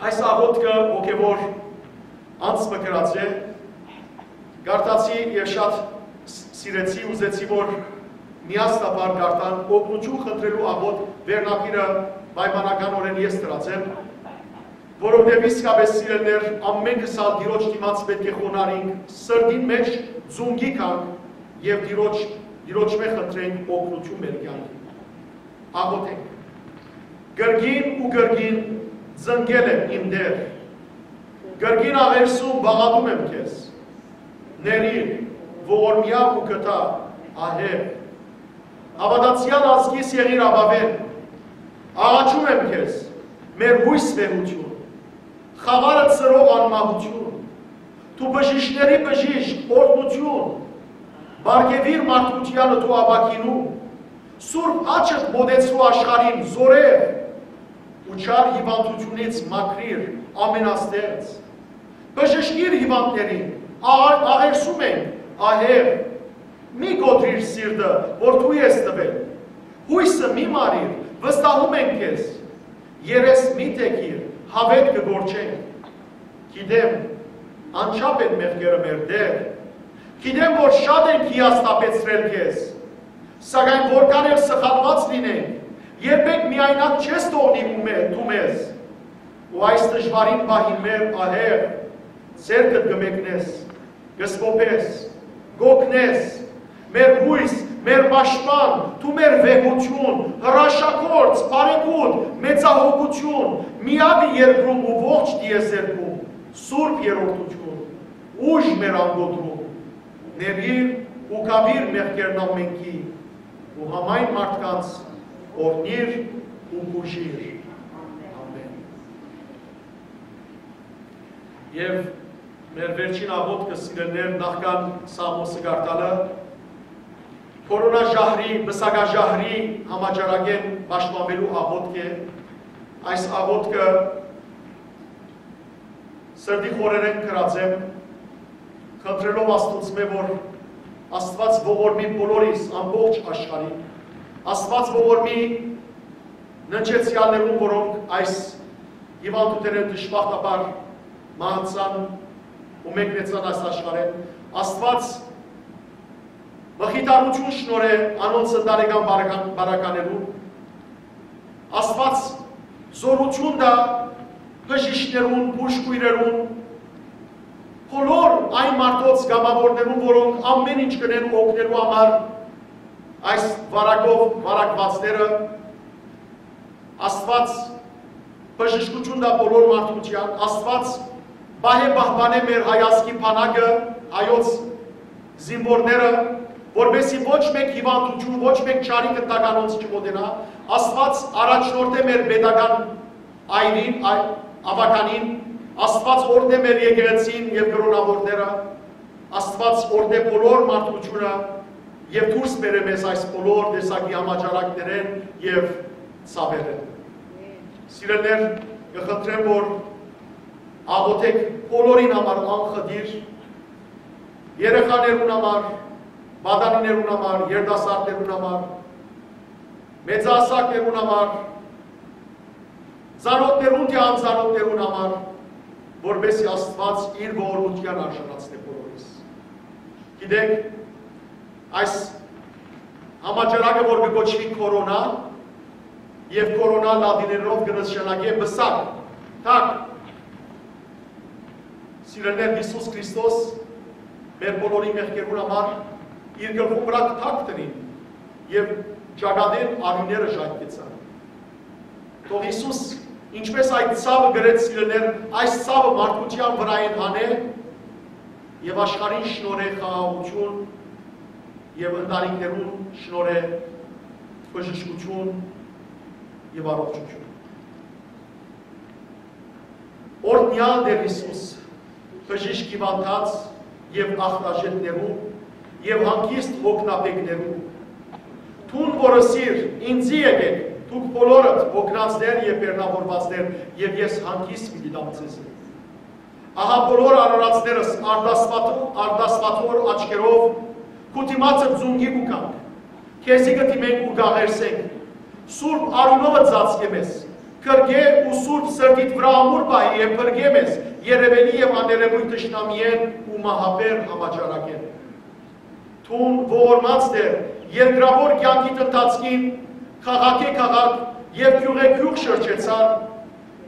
Այս աղօթքը հոգեւոր անձ մը գրած է, կարդացի եւ շատ ս-, սիրեցի, ուզեցի, որ միասնաբար կարդան, օգնութիւն խնդրելու աղօթք վերնագիրը պայմանականօրէն ես դրած եմ, որովհետեւ իսկապէս, սիրելիներ, ամէնքս ալ Տիրոջ դիմաց պէտք է խոնարհինք, սրտին մէջ ծունկի գանք եւ Տիրոջ, Տիրոջմէ խնդրենք օգնութիւն մեր կեանքին։ Աղօթենք։ Կրկին ու կրկին ծնկել եմ, իմ Տէր, կրկին աղերսում պաղատում եմ քեզ, ներիր, ողորմեայ ու գթայ, ահեղ, հաւատացեալ ազգիս եղիր ապաւէն, աղաչում եմ քեզ, մեր յոյս վեհութիւն, խաւարը ծրող անմահութիւն, դու բժիշկների բժիշկ, օրհնութիւն, պարգեւիր մարդկութեանը դու ապագինու, սուրբ աչքդ մօտեցրու աշխարհին, զօրեղ, ու չար հիւանդութիւնից մաքրիր, ամենաստեղծ, բժշկիր հիւանդներին, աղ-, աղերսում ենք, ահեղ, մի կոտրիր սիրտը, որ դու ես տվել, յոյսը մի մարիր, վստահում ենք քեզ, երես մի թեքիր, հաւէտ կը կորչենք։ Գիտեմ, անչափ են մեղքերը մեր, Տէր, գիտեմ, որ շատ ենք հիասթափեցրել քեզ, սակայն որքան էլ սխալուած լինենք, երբեք միայնակ չես թողնի ու մե-, դու մեզ, ու այս դժուարին պահին մեր, ահեղ, ձեռքդ կը մեկնես, կը սփոփես, կ'օգնես, մեր յոյս, մեր պաշտպան, դու մեր վեհութիւն, հրաշագործ, բարեգութ, մեծահոգութիւն, միակը երկրում ու ողջ տիեզերքում, սուրբ երրորդութիւն, ուժ մեր անկոտրում, ներիր ու գաւիր մեղքերն ամենքի, ու համայն մարդկանց օրհնիր ու բուժիր։ Ամեն։ Եւ մեր վերջին աղօթքը, սիրելիներ, նախքան Սաղմոսը կարդալը, կորոնա ժահրի, պսակաժահրի համաճարակէն պաշտպանուելու աղօթք է։ Այս աղօթքը սրտի խորերէն գրած եմ, խնդրելով Աստուծմէ, որ Աստուած ողորմի բոլորիս, ամբողջ աշխարհին, Աստուած ողորմի ննջեցեալներուն, որոնք այս հիւանդութենէն դժբախտաբար մահացան ու մեկնեցան այս աշխարհէն, Աստուած մխիթարութիւն շնորհէ անոնց ընտանեկան բարական-, բարականերուն, Աստուած զօրութիւն տայ բժիշկներուն, բուժքոյրերուն, բոլոր այն մարդոց կամաւորներուն, որոնք ամեն ինչ կ'ընեն օգնելու համար այս վարակով վարակուածները, Աստուած բժշկութիւն տայ բոլոր մարդկութեան, Աստուած պահէ պահպանէ մեր հայ ազգի բանակը, հայոց զինուորները, որպեսզի ոչ մէկ հիւանդութիւն, ոչ մէկ չարի գնդակ անոնց չմօտենայ, Աստուած առաջնորդէ մեր պետական այրին, այ-, աւագանին, Աստուած օրհնէ մեր եկեղեցին եւ կրոնաւորները, Աստուած օրհնէ բոլոր մարդկութիւնը եւ դուրս բերէ մեզ այս բոլոր տեսակի համաճարակներէն եւ ցաւերէն։ Սիրելիներ, կը խնդրեմ, որ աղօթէք բոլորին համար անխտիր, երեխաներուն համար, պատանիներուն համար, երիտասարդներուն համար, մեծահասակներուն համար, ծանօթներուն թէ անծանօթներուն համար, որպեսզի Աստուած իր ողորմութեան արժանացնէ բոլորիս։ Գիտեք, այս համաճարակը, որ կը կոչուի կորոնա, եւ կորոնա լատիներով կը նշանակէ պսակ, թագ, սիրելիներ, Յիսուս Քրիստոս մեր բոլորի մեղքերուն համար իր գլխուն վրայ թագ դնին եւ ճակատին արիւները ժայթքեցան։ Թող Յիսուս, ինչպես այդ ցաւը կրեց, սիրելիներ, այս ցաւը մարդկութեան վրայէն հանէ եւ աշխարհին շնորհէ խաղաղութիւն եւ ընտանիքներուն շնորհէ բժշկութիւն եւ առողջութիւն։ Օրհնեալ Տէր Յիսուս, բժիշկ հիւանդանոց եւ ախտաժետներու եւ հանգիստ հոգնաբեկներու։ Դուն որ ըսիր. «Ինծի եկէք, դուք բոլորդ հոգնածներ եւ բեռնաւորուածներ, եւ ես հանգիստ պիտի տամ ձեզի»։ Ահա բոլոր արարածներս արտասվաթ-, արտասվաթոր աչքերով քու դիմացդ զունգի կու գանք, քեզի կը դիմենք ու կ'աղերսենք։ Սուրբ արիւնովդ ծածկէ մեզ, կրկէ ու սուրբ սրտիդ վրայ ամուր պահէ եւ փրկէ մեզ երեւելի եւ աներեւոյթ թշնամիէն ու մահաբեր համաճարակէն։ Դուն ողորմած Տէր, երկրաւոր կեանքիդ ընթացքին քաղաքէ քաղաք եւ գիւղէ գիւղ շրջեցար,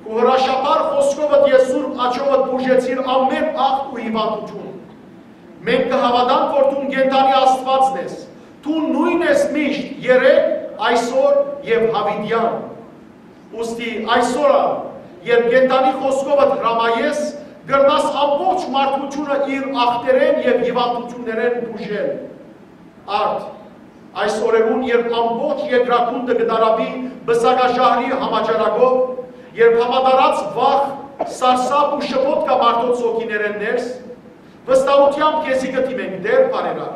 քու հրաշափառ խօսքովդ եւ սուրբ աջովդ բուժեցիր ամէն ախտ ու հիւանդութիւն։ Մենք կը հաւատանք, որ դուն կենդանի Աստուածն ես, դուն նոյն ես միշտ, երէկ, այսօր եւ յաւիտեան։ Ուստի այսօր ալ, երբ կենդանի խօսքովդ հրամայես, կրնաս ամբողջ մարդկութիւնը իր ախտերէն եւ հիւանդութիւններէն բուժել։ Արդ, այս օրերուն, երբ ամբողջ երկրագունդը կը տարապի պսակաժահրի համաճարակով, երբ հաւատարած վախ, սարսափ ու շփոթ կայ մարդոց հոգիներէն ներս, վստահութեամբ քեզի կը դիմենք, Տէր բարերար։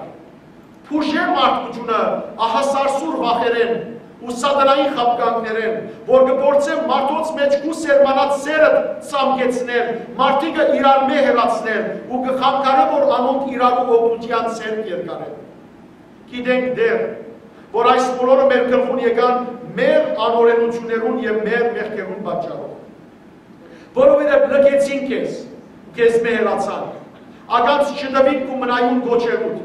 Բուժէ մարդկութիւնը ահասարսուռ վախերէն ու սատանային խաբկանքներէն, որ կը փորձեն մարդոց մէջ քու սերմանած սերը ցամքեցնել, մարդիկը իրարմէ հեռացնել ու կը խանգարէ, որ անոնք իրարու օգնութեան ձեռք երկարեն։ Գիտենք, Տէր, որ այս բոլորը մեր գլխուն եկան մեր անօրենութիւններուն եւ մեր մեղքերուն պատճառով։ Որովհետեւ լքեցին քեզ, քեզմէ հեռացան, ականջ չտուին քու մնայուն կոչերուդ,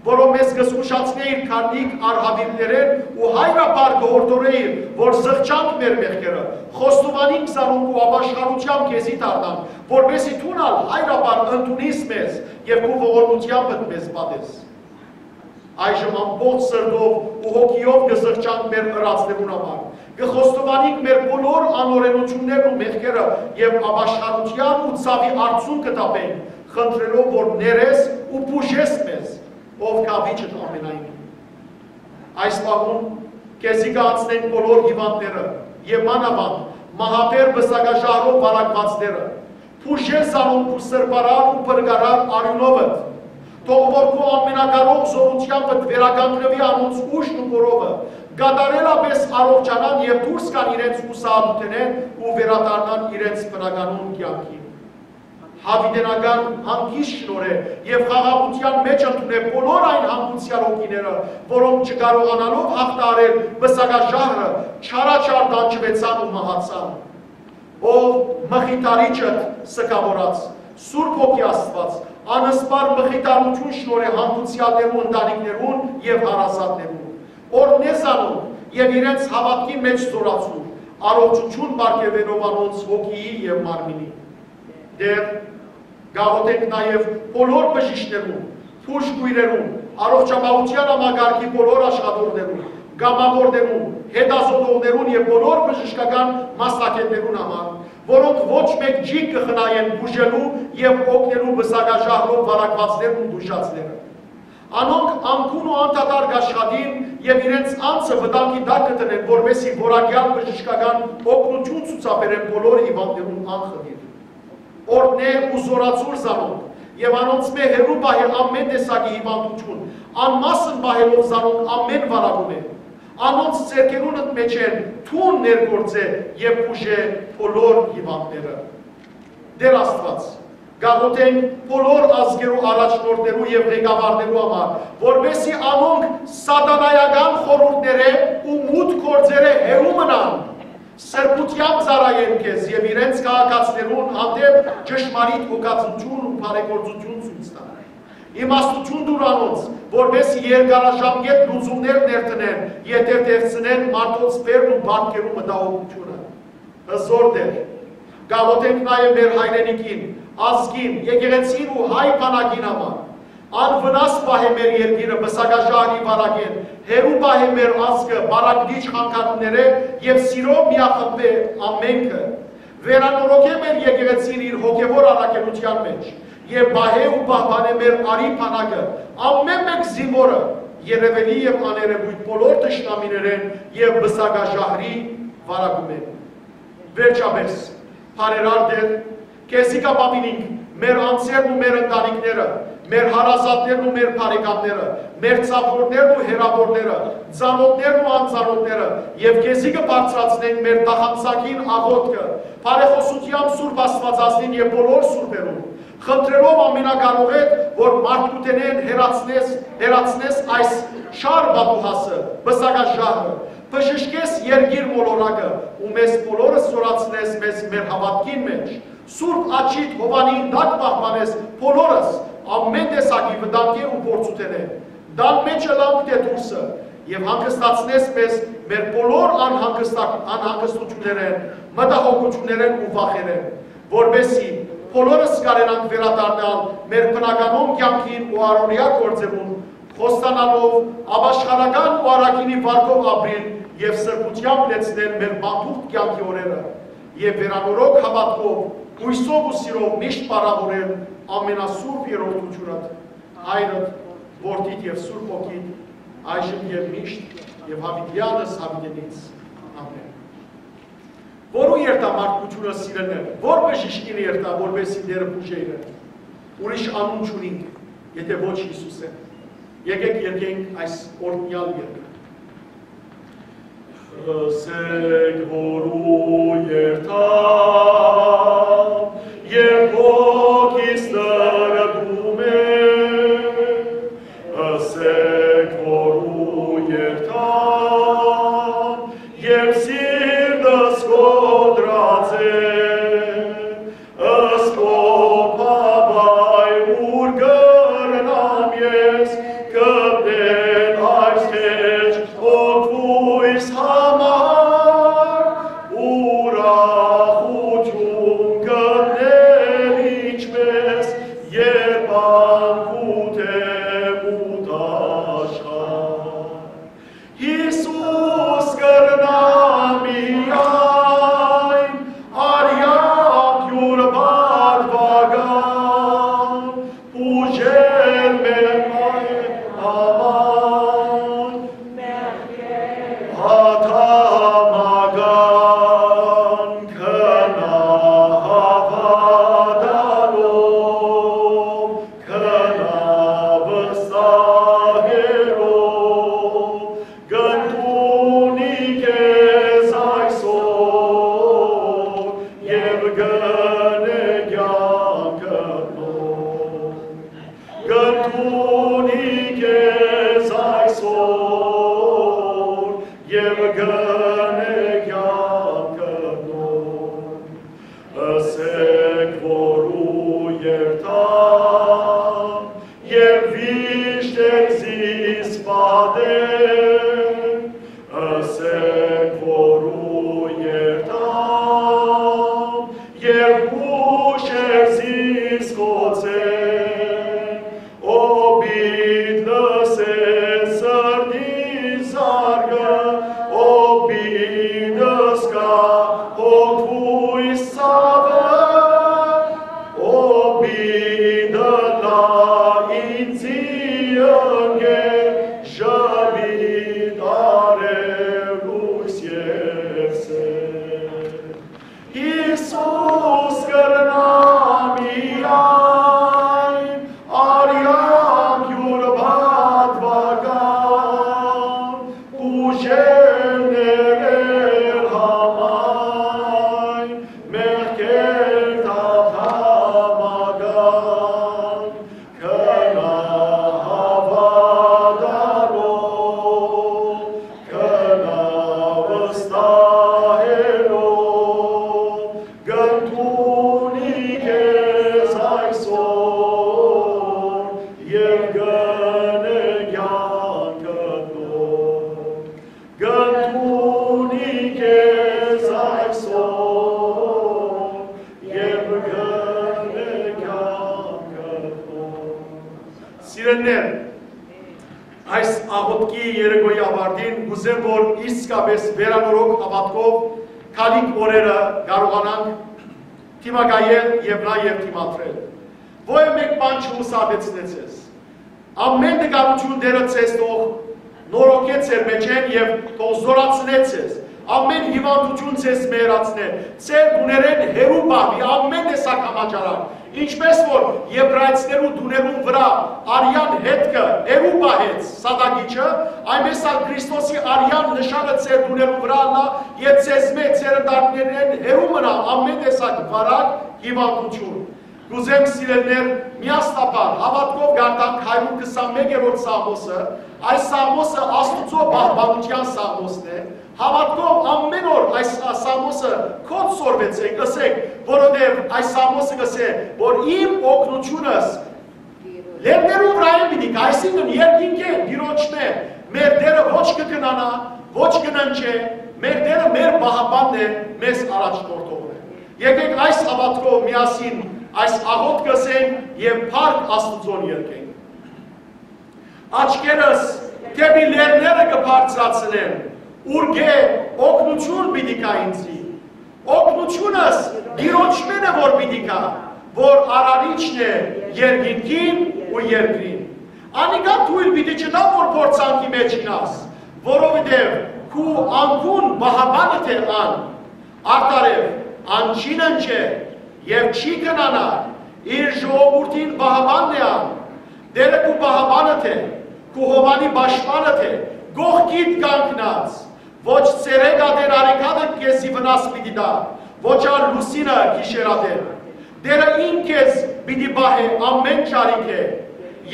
որով մեզ կը զգուշացնէիր քարնիկ արհաւիրքներէն ու հայրապար կը յորդորէիր, որ զղջանք մեր մեղքերը, խոստովանինք զանոնք ու ապաշխարութեամբ քեզի դառնանք, որպէսզի դուն ալ հայրապար ընդունիս մեզ եւ քու ողորմութեամբդ մեզ պատես։ Այժմ ամբողջ սրտով ու հոգիով կը զղջանք մեր ըրածներուն համար, կը խոստովանինք մեր բոլոր անօրենութիւններն ու մեղքերը եւ ապաշխարութեան ու ցաւի արցունքը տապենք, խնդրելով, որ ներես ու բուժես մեզ, ով գաւիճդ ամենայնին։ Այս պահուն քեզի կ'անցնեն բոլոր հիւանդները եւ մանաւանդ մահաբեր պսակաժահրով վարակուածները, բուժե զանոնք քու սրբարար ու փրկարար արիւնովդ։ Թող որ քու ամենակարող զօրութեամբդ վերականգնուի անոնց ուժն ու կորովը, կատարելապէս առողջանան եւ դուրս գան իրենց յուսահատութենէն ու վերադառնան իրենց բնականոն կեանքին։ Յաւիտենական հանգիստ շնորհէ եւ խաղաղութեան մէջ ընդունէ բոլոր այն հանգուցեալ հոգիները, որոնք չկարողանալով յաղթահարել պսակաժահրը, չարաչար տանջուեցան ու մահացան։ Ով մխիթարիչդ սգաւորած, Սուրբ Հոգի Աստուած, անսպառ մխիթարութիւն շնորհէ հանգուցեալներու ընտանիքներուն եւ հարազատներուն, օրհնե զանոնք եւ իրենց հաւատքի մէջ զօրացուր, առողջութիւն պարգեւելով անոնց հոգիի եւ մարմինի։ Տէր, կ'աղօթենք նաեւ բոլոր բժիշկներուն, բուժքոյրերուն, առողջապահութեան համակարգի բոլոր աշխատողներուն, կամաւորներուն, հետազոտողներուն եւ բոլոր բժշկական մասնագէտներուն համար, որոնք ոչ մէկ ջիգ կը խնայեն բուժելու եւ օգնելու պսակաժահրով վարակուածներն ու տուժածները։ Անոնք անկուն ու անդադար կ'աշխատին եւ իրենց անձը վտանգի տակ կը դնեն, որպէսզի որակեալ բժշկական օգնութիւն ցուցաբերեն բոլոր հիւանդներուն անխտիր։ Օրհնէ ու զօրացուր զանոնք եւ անոնցմէ հեռու պահէ ամէն տեսակի հիւանդութիւն, անմասն պահելով զանոնք ամէն վարակումէ։ Անոնց ձեռքերունդ մէջէն դուն ներգործէ եւ բուժէ բոլոր հիւանդները։ Տէր Աստուած, կ'աղօթենք բոլոր ազգերու առաջնորդներու եւ ղեկավարներու համար, որպէսզի անոնք սատանայական խորհուրդներէ ու մութ գործերէ հեռու մնան, սրբութեամբ ծառայեն քեզ եւ իրենց քաղաքացիներուն հանդէպ ճշմարիտ հոգածութիւն ու բարեգործութիւն ցոյց տան։ Իմաստութիւն տուր անոնց, որպէսզի երկարաժամկէտ լուծումներ ներդնեն, եթերթերցնեն մարդոց բերն ու բարդքերու մտահոգութիւնը։ Հզոր Տէր, կ'աղօթենք նաեւ մեր հայրենիքին, ազգին, եկեղեցին ու հայ բանակին համար։ Անվնաս պահէ մեր երկիրը պսակաժահրի վարակէն, հեռու պահէ մեր ազգը պառակտիչ խանգարումներէ եւ սիրով միախմբէ ամենքը։ Վերանորոգէ մեր եկեղեցին իր հոգեւոր առաքելութեան մէջ եւ պահէ ու պահպանէ մեր արի բանակը, ամէն մէկ զինուորը, երեւելի եւ աներեւոյթ բոլոր թշնամիներէն եւ պսակաժահրի վարակումէն։ Վերջապէս, բարերար Տէր, քեզի կ'ապաւինինք մեր անձերն ու մեր ընտանիքները, Մեր հարազատներն ու մեր բարեկամները, մեր ծափորներն ու հեռաւորները, ծանօթներն ու անծանօթները, եւ քեզի կը բարձրացնենք մեր տախանցակին աղօթքը, բարեխօսութեամբ Սուրբ Աստուածածնին եւ բոլոր սուրբերուն, խնդրելով Ամենակարողէդ, որ մարդկութենէն հեռացնես, հեռացնես այս շար պատուհասը, պսակաժահը, բժշկես երկիր մոլորակը ու մեզ բոլորս զօրացնես մեզ մեր հաւատքին մէջ, Սուրբ աջիդ հովանին տակ պահպանես բոլորս, ամէն տեսակի վտանգէ ու փորձութենէ, տան մէջ ըլանք թէ դուրսը, եւ հանգստացնես մեզ մեր բոլոր անհանգստակ-, անհանգստութիւններէն, մտահոգութիւններէն ու վախերէն, որպէսզի բոլորս կարենանք վերադառնալ մեր բնականոն կեանքին ու առօրեայ գործերուն, խոստանալով ապաշխարական ու առաքինի վարկով ապրիլ եւ սրբութեամբ լեցնել մեր բանտուղտ կեանքի օրերը եւ վերանորոգ հաւատքով, յուսով ու սիրով միշտ պարաւորել ամենասուրբ երրորդութիւնը, Հայրդ, Որդիդ եւ Սուրբ Հոգիդ, այժմ եւ միշտ եւ յաւիտեանս յաւիտենից։ Ամէն։ Որու երթամարտկութիւնը, սիրելիներ, որ բժիշկին երթայ, որպէսզի Տէրը բուժէ իրեն։ Ուրիշ անուն չունինք, եթէ ոչ Յիսուսէն։ Եկէք երգենք այս օրհնեալ երգը։ Ըսեք, որու երթայ, երբ հոգիս նրբում է, ըսեք, որու երթայ, երբ սիրտս կոտրած է, ըսկոպ հաւայ, ուր կրնամ ես գտնել այս քեջ օգուս համար, ուրախութիւն գտնել ինչպես, երբ անկութ եմ ու դաշխար։ Յիսուս կրնայ միայն արեամբ յուր պատուական, բուժել մեր մայր համար, ադամական, գնա հաւատալով, գնա վստահելով, կ'ընդունի քեզ այսօր եւ կ'ընէ կեանքդ նոր։ Կ'ընդունի քեզ այսօր եւ կ'ընէ կեանքդ նոր։ Ըսեք, որու երթայ, եւ վիշտ էր զիս պատեր, ըսեք, որու երթայ, եւ յուշ էր զիս խոցեր, ո պիտ լսէ սրտի զարկը, ո պիտ զգայ հոգուս ցաւը, ո պիտ ըլլայ ինծի ընկեր, ժպիտ արեւ լոյս եւ սեր։ Յիսուս կրնայ միայն արեամբ յուր պատուական, ուժեր ներել համայն մեղքերդ ադամական, գնա հաւատալով, գնա վստահելով, կ'ընդունի քեզ այսօր եւ կ'ընէ կեանքդ նոր։ Կ'ընդունի քեզ այսօր եւ կ'ընէ կեանքդ նոր։ Սիրելիներ, այս աղօթքի երեկոյի ավարտին կ'ուզեմ, որ իսկապէս վերանորոգ հաւատքով գալիք օրերը կարողանանք դիմակայել եւ նաեւ դիմադրել։ Ոեւ մէկ բան չհուսահատեցնէ ձեզ։ Ամէն տկարութիւն Տէրը ձեզ թող նորոգէ ձեր մէջէն եւ թող զօրացնէ ձեզ։ Ամէն հիւանդութիւն ձեզ մեռացնէ, ձեր տուներէն հեռու պահուի ամէն տեսակ համաճարակ, ինչպէս որ Եբրայեցիներու տուներուն վրայ արեան հետքը հեռու պահեց սատակիչը, այնպէս ալ Քրիստոսի արեան նշանը ձեր տուներուն վրայ ըլլայ եւ ձեզմէ, ձեր ընտանիքներէն հեռու մնայ ամէն տեսակ վարակ, հիւանդութիւն։ Կ'ուզեմ, սիրելիներ, միասնաբար հաւատքով կարդանք հարիւր քսանմէկերորդ Սաղմոսը։ Այս Սաղմոսը Աստուծոյ պահպանութեան Սաղմոսն է։ Հաւատքով ամէն օր այս Սաղմոսը քոնց սորվեցէք, ըսէք, որովհետեւ այս Սաղմոսը կ'ըսէ, որ իմ օգնութիւնս լեռներուն վրայէն պիտի գայ, այսինքն երկինքէն, Տիրոջմէ։ Մեր Տէրը ոչ կը քնանայ, ոչ կը ննջէ, մեր Տէրը մեր պահապանն է, մեզ առաջնորդողն է։ Եկէք այս հաւատքով միասին այս աղօթքը ըսենք եւ փառք Աստուծոյ երգենք։ Աչքերս դէպի լեռները կը բարձրացնեմ, ուրկէ օգնութիւն պիտի գայ ինծի։ Օգնութիւնս Տիրոջմէն է որ պիտի գայ, որ արարիչն է երկինքին ու երկրին։ Անիկա թոյլ պիտի չտայ որ փորձանքի մէջ իյնաս, որովհետեւ քու անկուն պահապանդ է ան։ Արդարեւ, ան չի ննջեր եւ չի քնանայ, իր ժողովուրդին պահապանն է ան։ Տէրը քու պահապանդ է, քու հովանի պաշտպանդ է, կողքիդ կանգնած։ Ոչ ցերեկ ատեն արեգակը քեզի վնաս պիտի տայ, ոչ ալ լուսինը գիշեր ատեն։ Տէրը ինք քեզ պիտի պահէ ամէն չարիքէ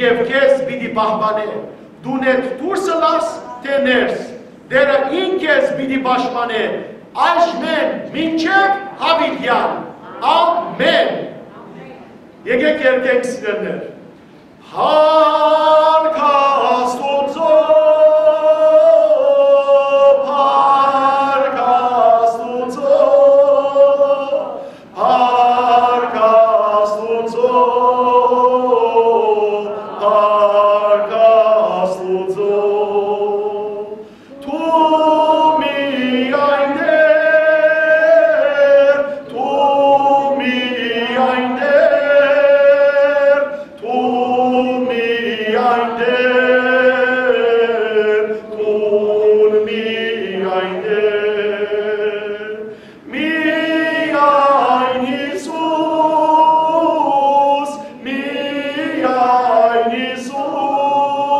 եւ քեզ պիտի պահպանէ, տունէդ դուրս ըլլաս թէ ներս։ Տէրը ինք քեզ պիտի պաշտպանէ այժմէն մինչեւ յաւիտեան։ Ամէն։ Եկէք երգենք, սիրելիներ։ Փառք Աստուծոյ, փառք Աստուծոյ, փառք Աստուծոյ, փառք Աստուծոյ։ Դու միայն Տէր, դու միայն Տէր, դու միայն Տէր, դու միայն Տէր։ Միայն Յիսուս, միայն Յիսուս,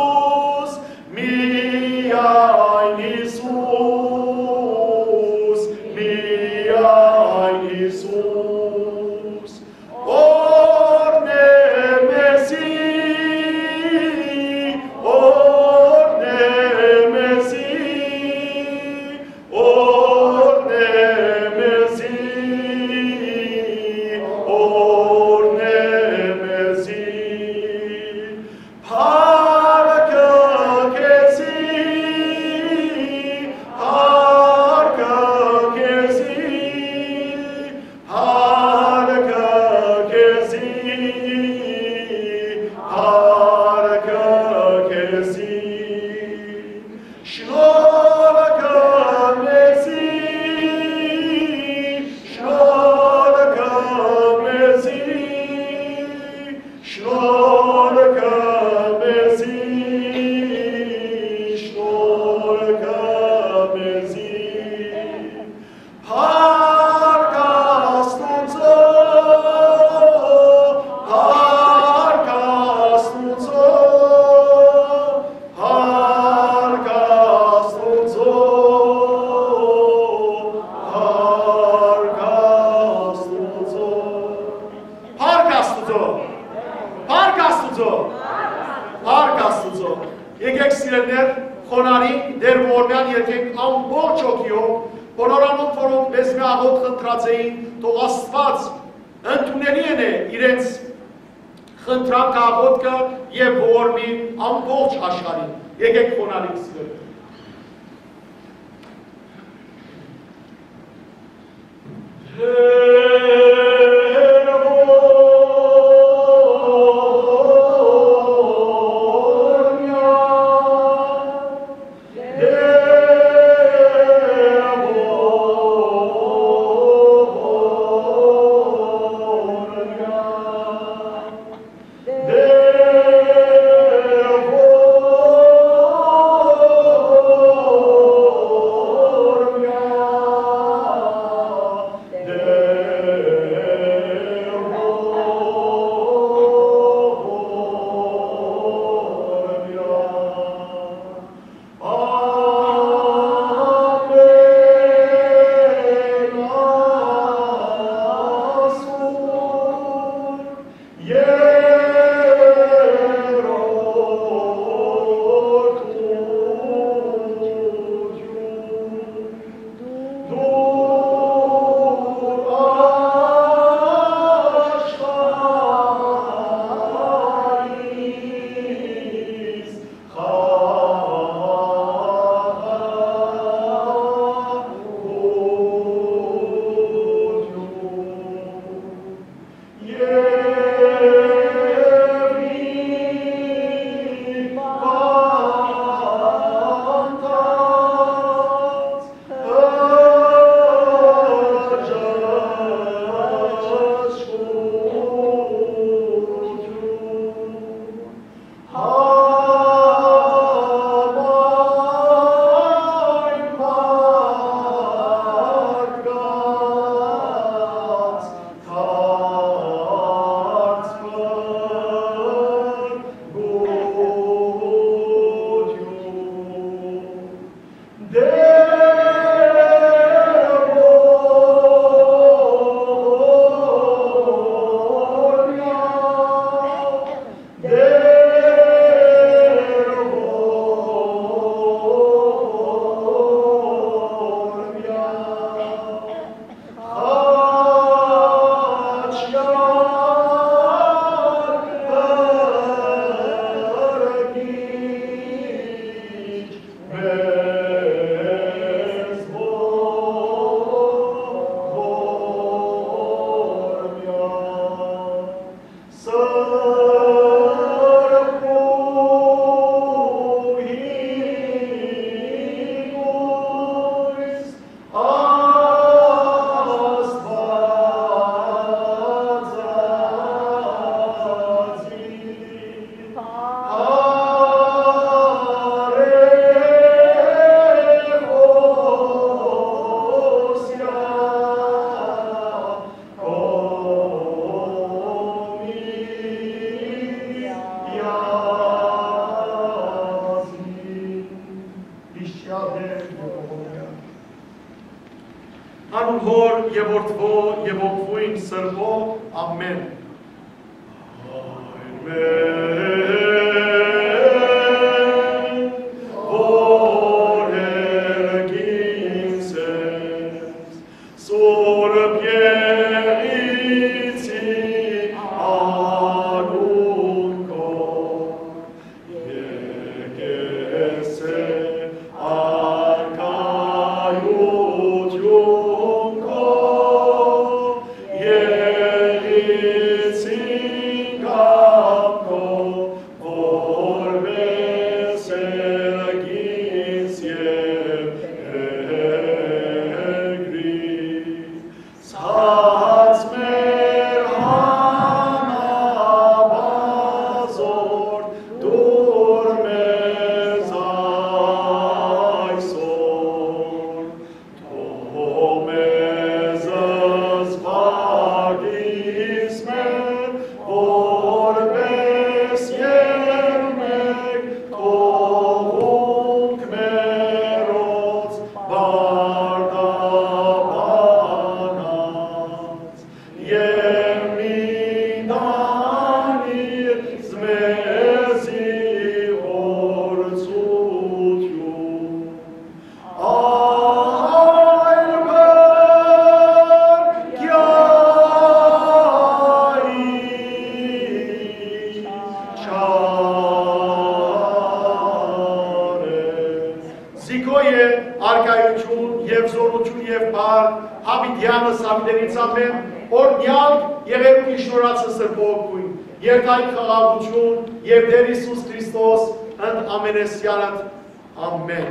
միայն Յիսուս, միայն Յիսուս, օրհնէ մեզի, օրհնէ մեզի, օրհնէ մեզի, օրհնէ մեզի, փառքը քեզի, փառքը քեզի, փառքը քեզի, փառքը քեզի։ Շնորհքը մեզի, շնորհքը մեզի, շնորհքը մեզի, շնորհքը մեզի։ Փառք Աստուծոյ, փառք Աստուծոյ, փառք Աստուծոյ, փառք Աստուծոյ։ Փառք Աստուծոյ, փառք Աստուծոյ, փառք Աստուծոյ։ Եկեք, սիրելիներ, խոնարհենք, Տէր ողորմեան երգենք ամբողջ հոգիով, բոլոր անոնք, որոնք մեզմէ աղօթք խնդրած էին, թող Աստուած ընդունելի ընէ իրենց խնդրանքը, աղօթքը եւ ողորմի ամբողջ աշխարհին։ Եկեք խոնարհենք, սիրելիներ։ Երրորդութիւն, դուր աշխարհիս խաղաղութիւն։ Անուն Հօր եւ Որդւոյ եւ Ոգիին Սրբոյ։ Ամէն։ Ամէն։ Որ հերկին Սուրբ Եղիցի անունքով, եկեցէ արքայութիւն քո, Եղիցին կամքով, որպէս եղիս եւ երկրի, ցած մեր հանապազօր դուր մեզ այսօր, թող մեզ զբաղիս մեր, որպէս եւ մէկ թողունք մերոց պարտապանած, եւ մի տանիր մեզի փորձութիւն, այլ պերկեայ չարես։ Զիքոյ է արքայութիւն եւ զօրութիւն եւ փառք յաւիտեանս յաւիտենիցամէն, օրհնեալ եղեր ու իշնորացը Սրբոյ Ոգուն, երթայք խաղաղութիւն եւ Տէր Յիսուս Քրիստոս ընդ ամենեսեանդ։ Ամէն։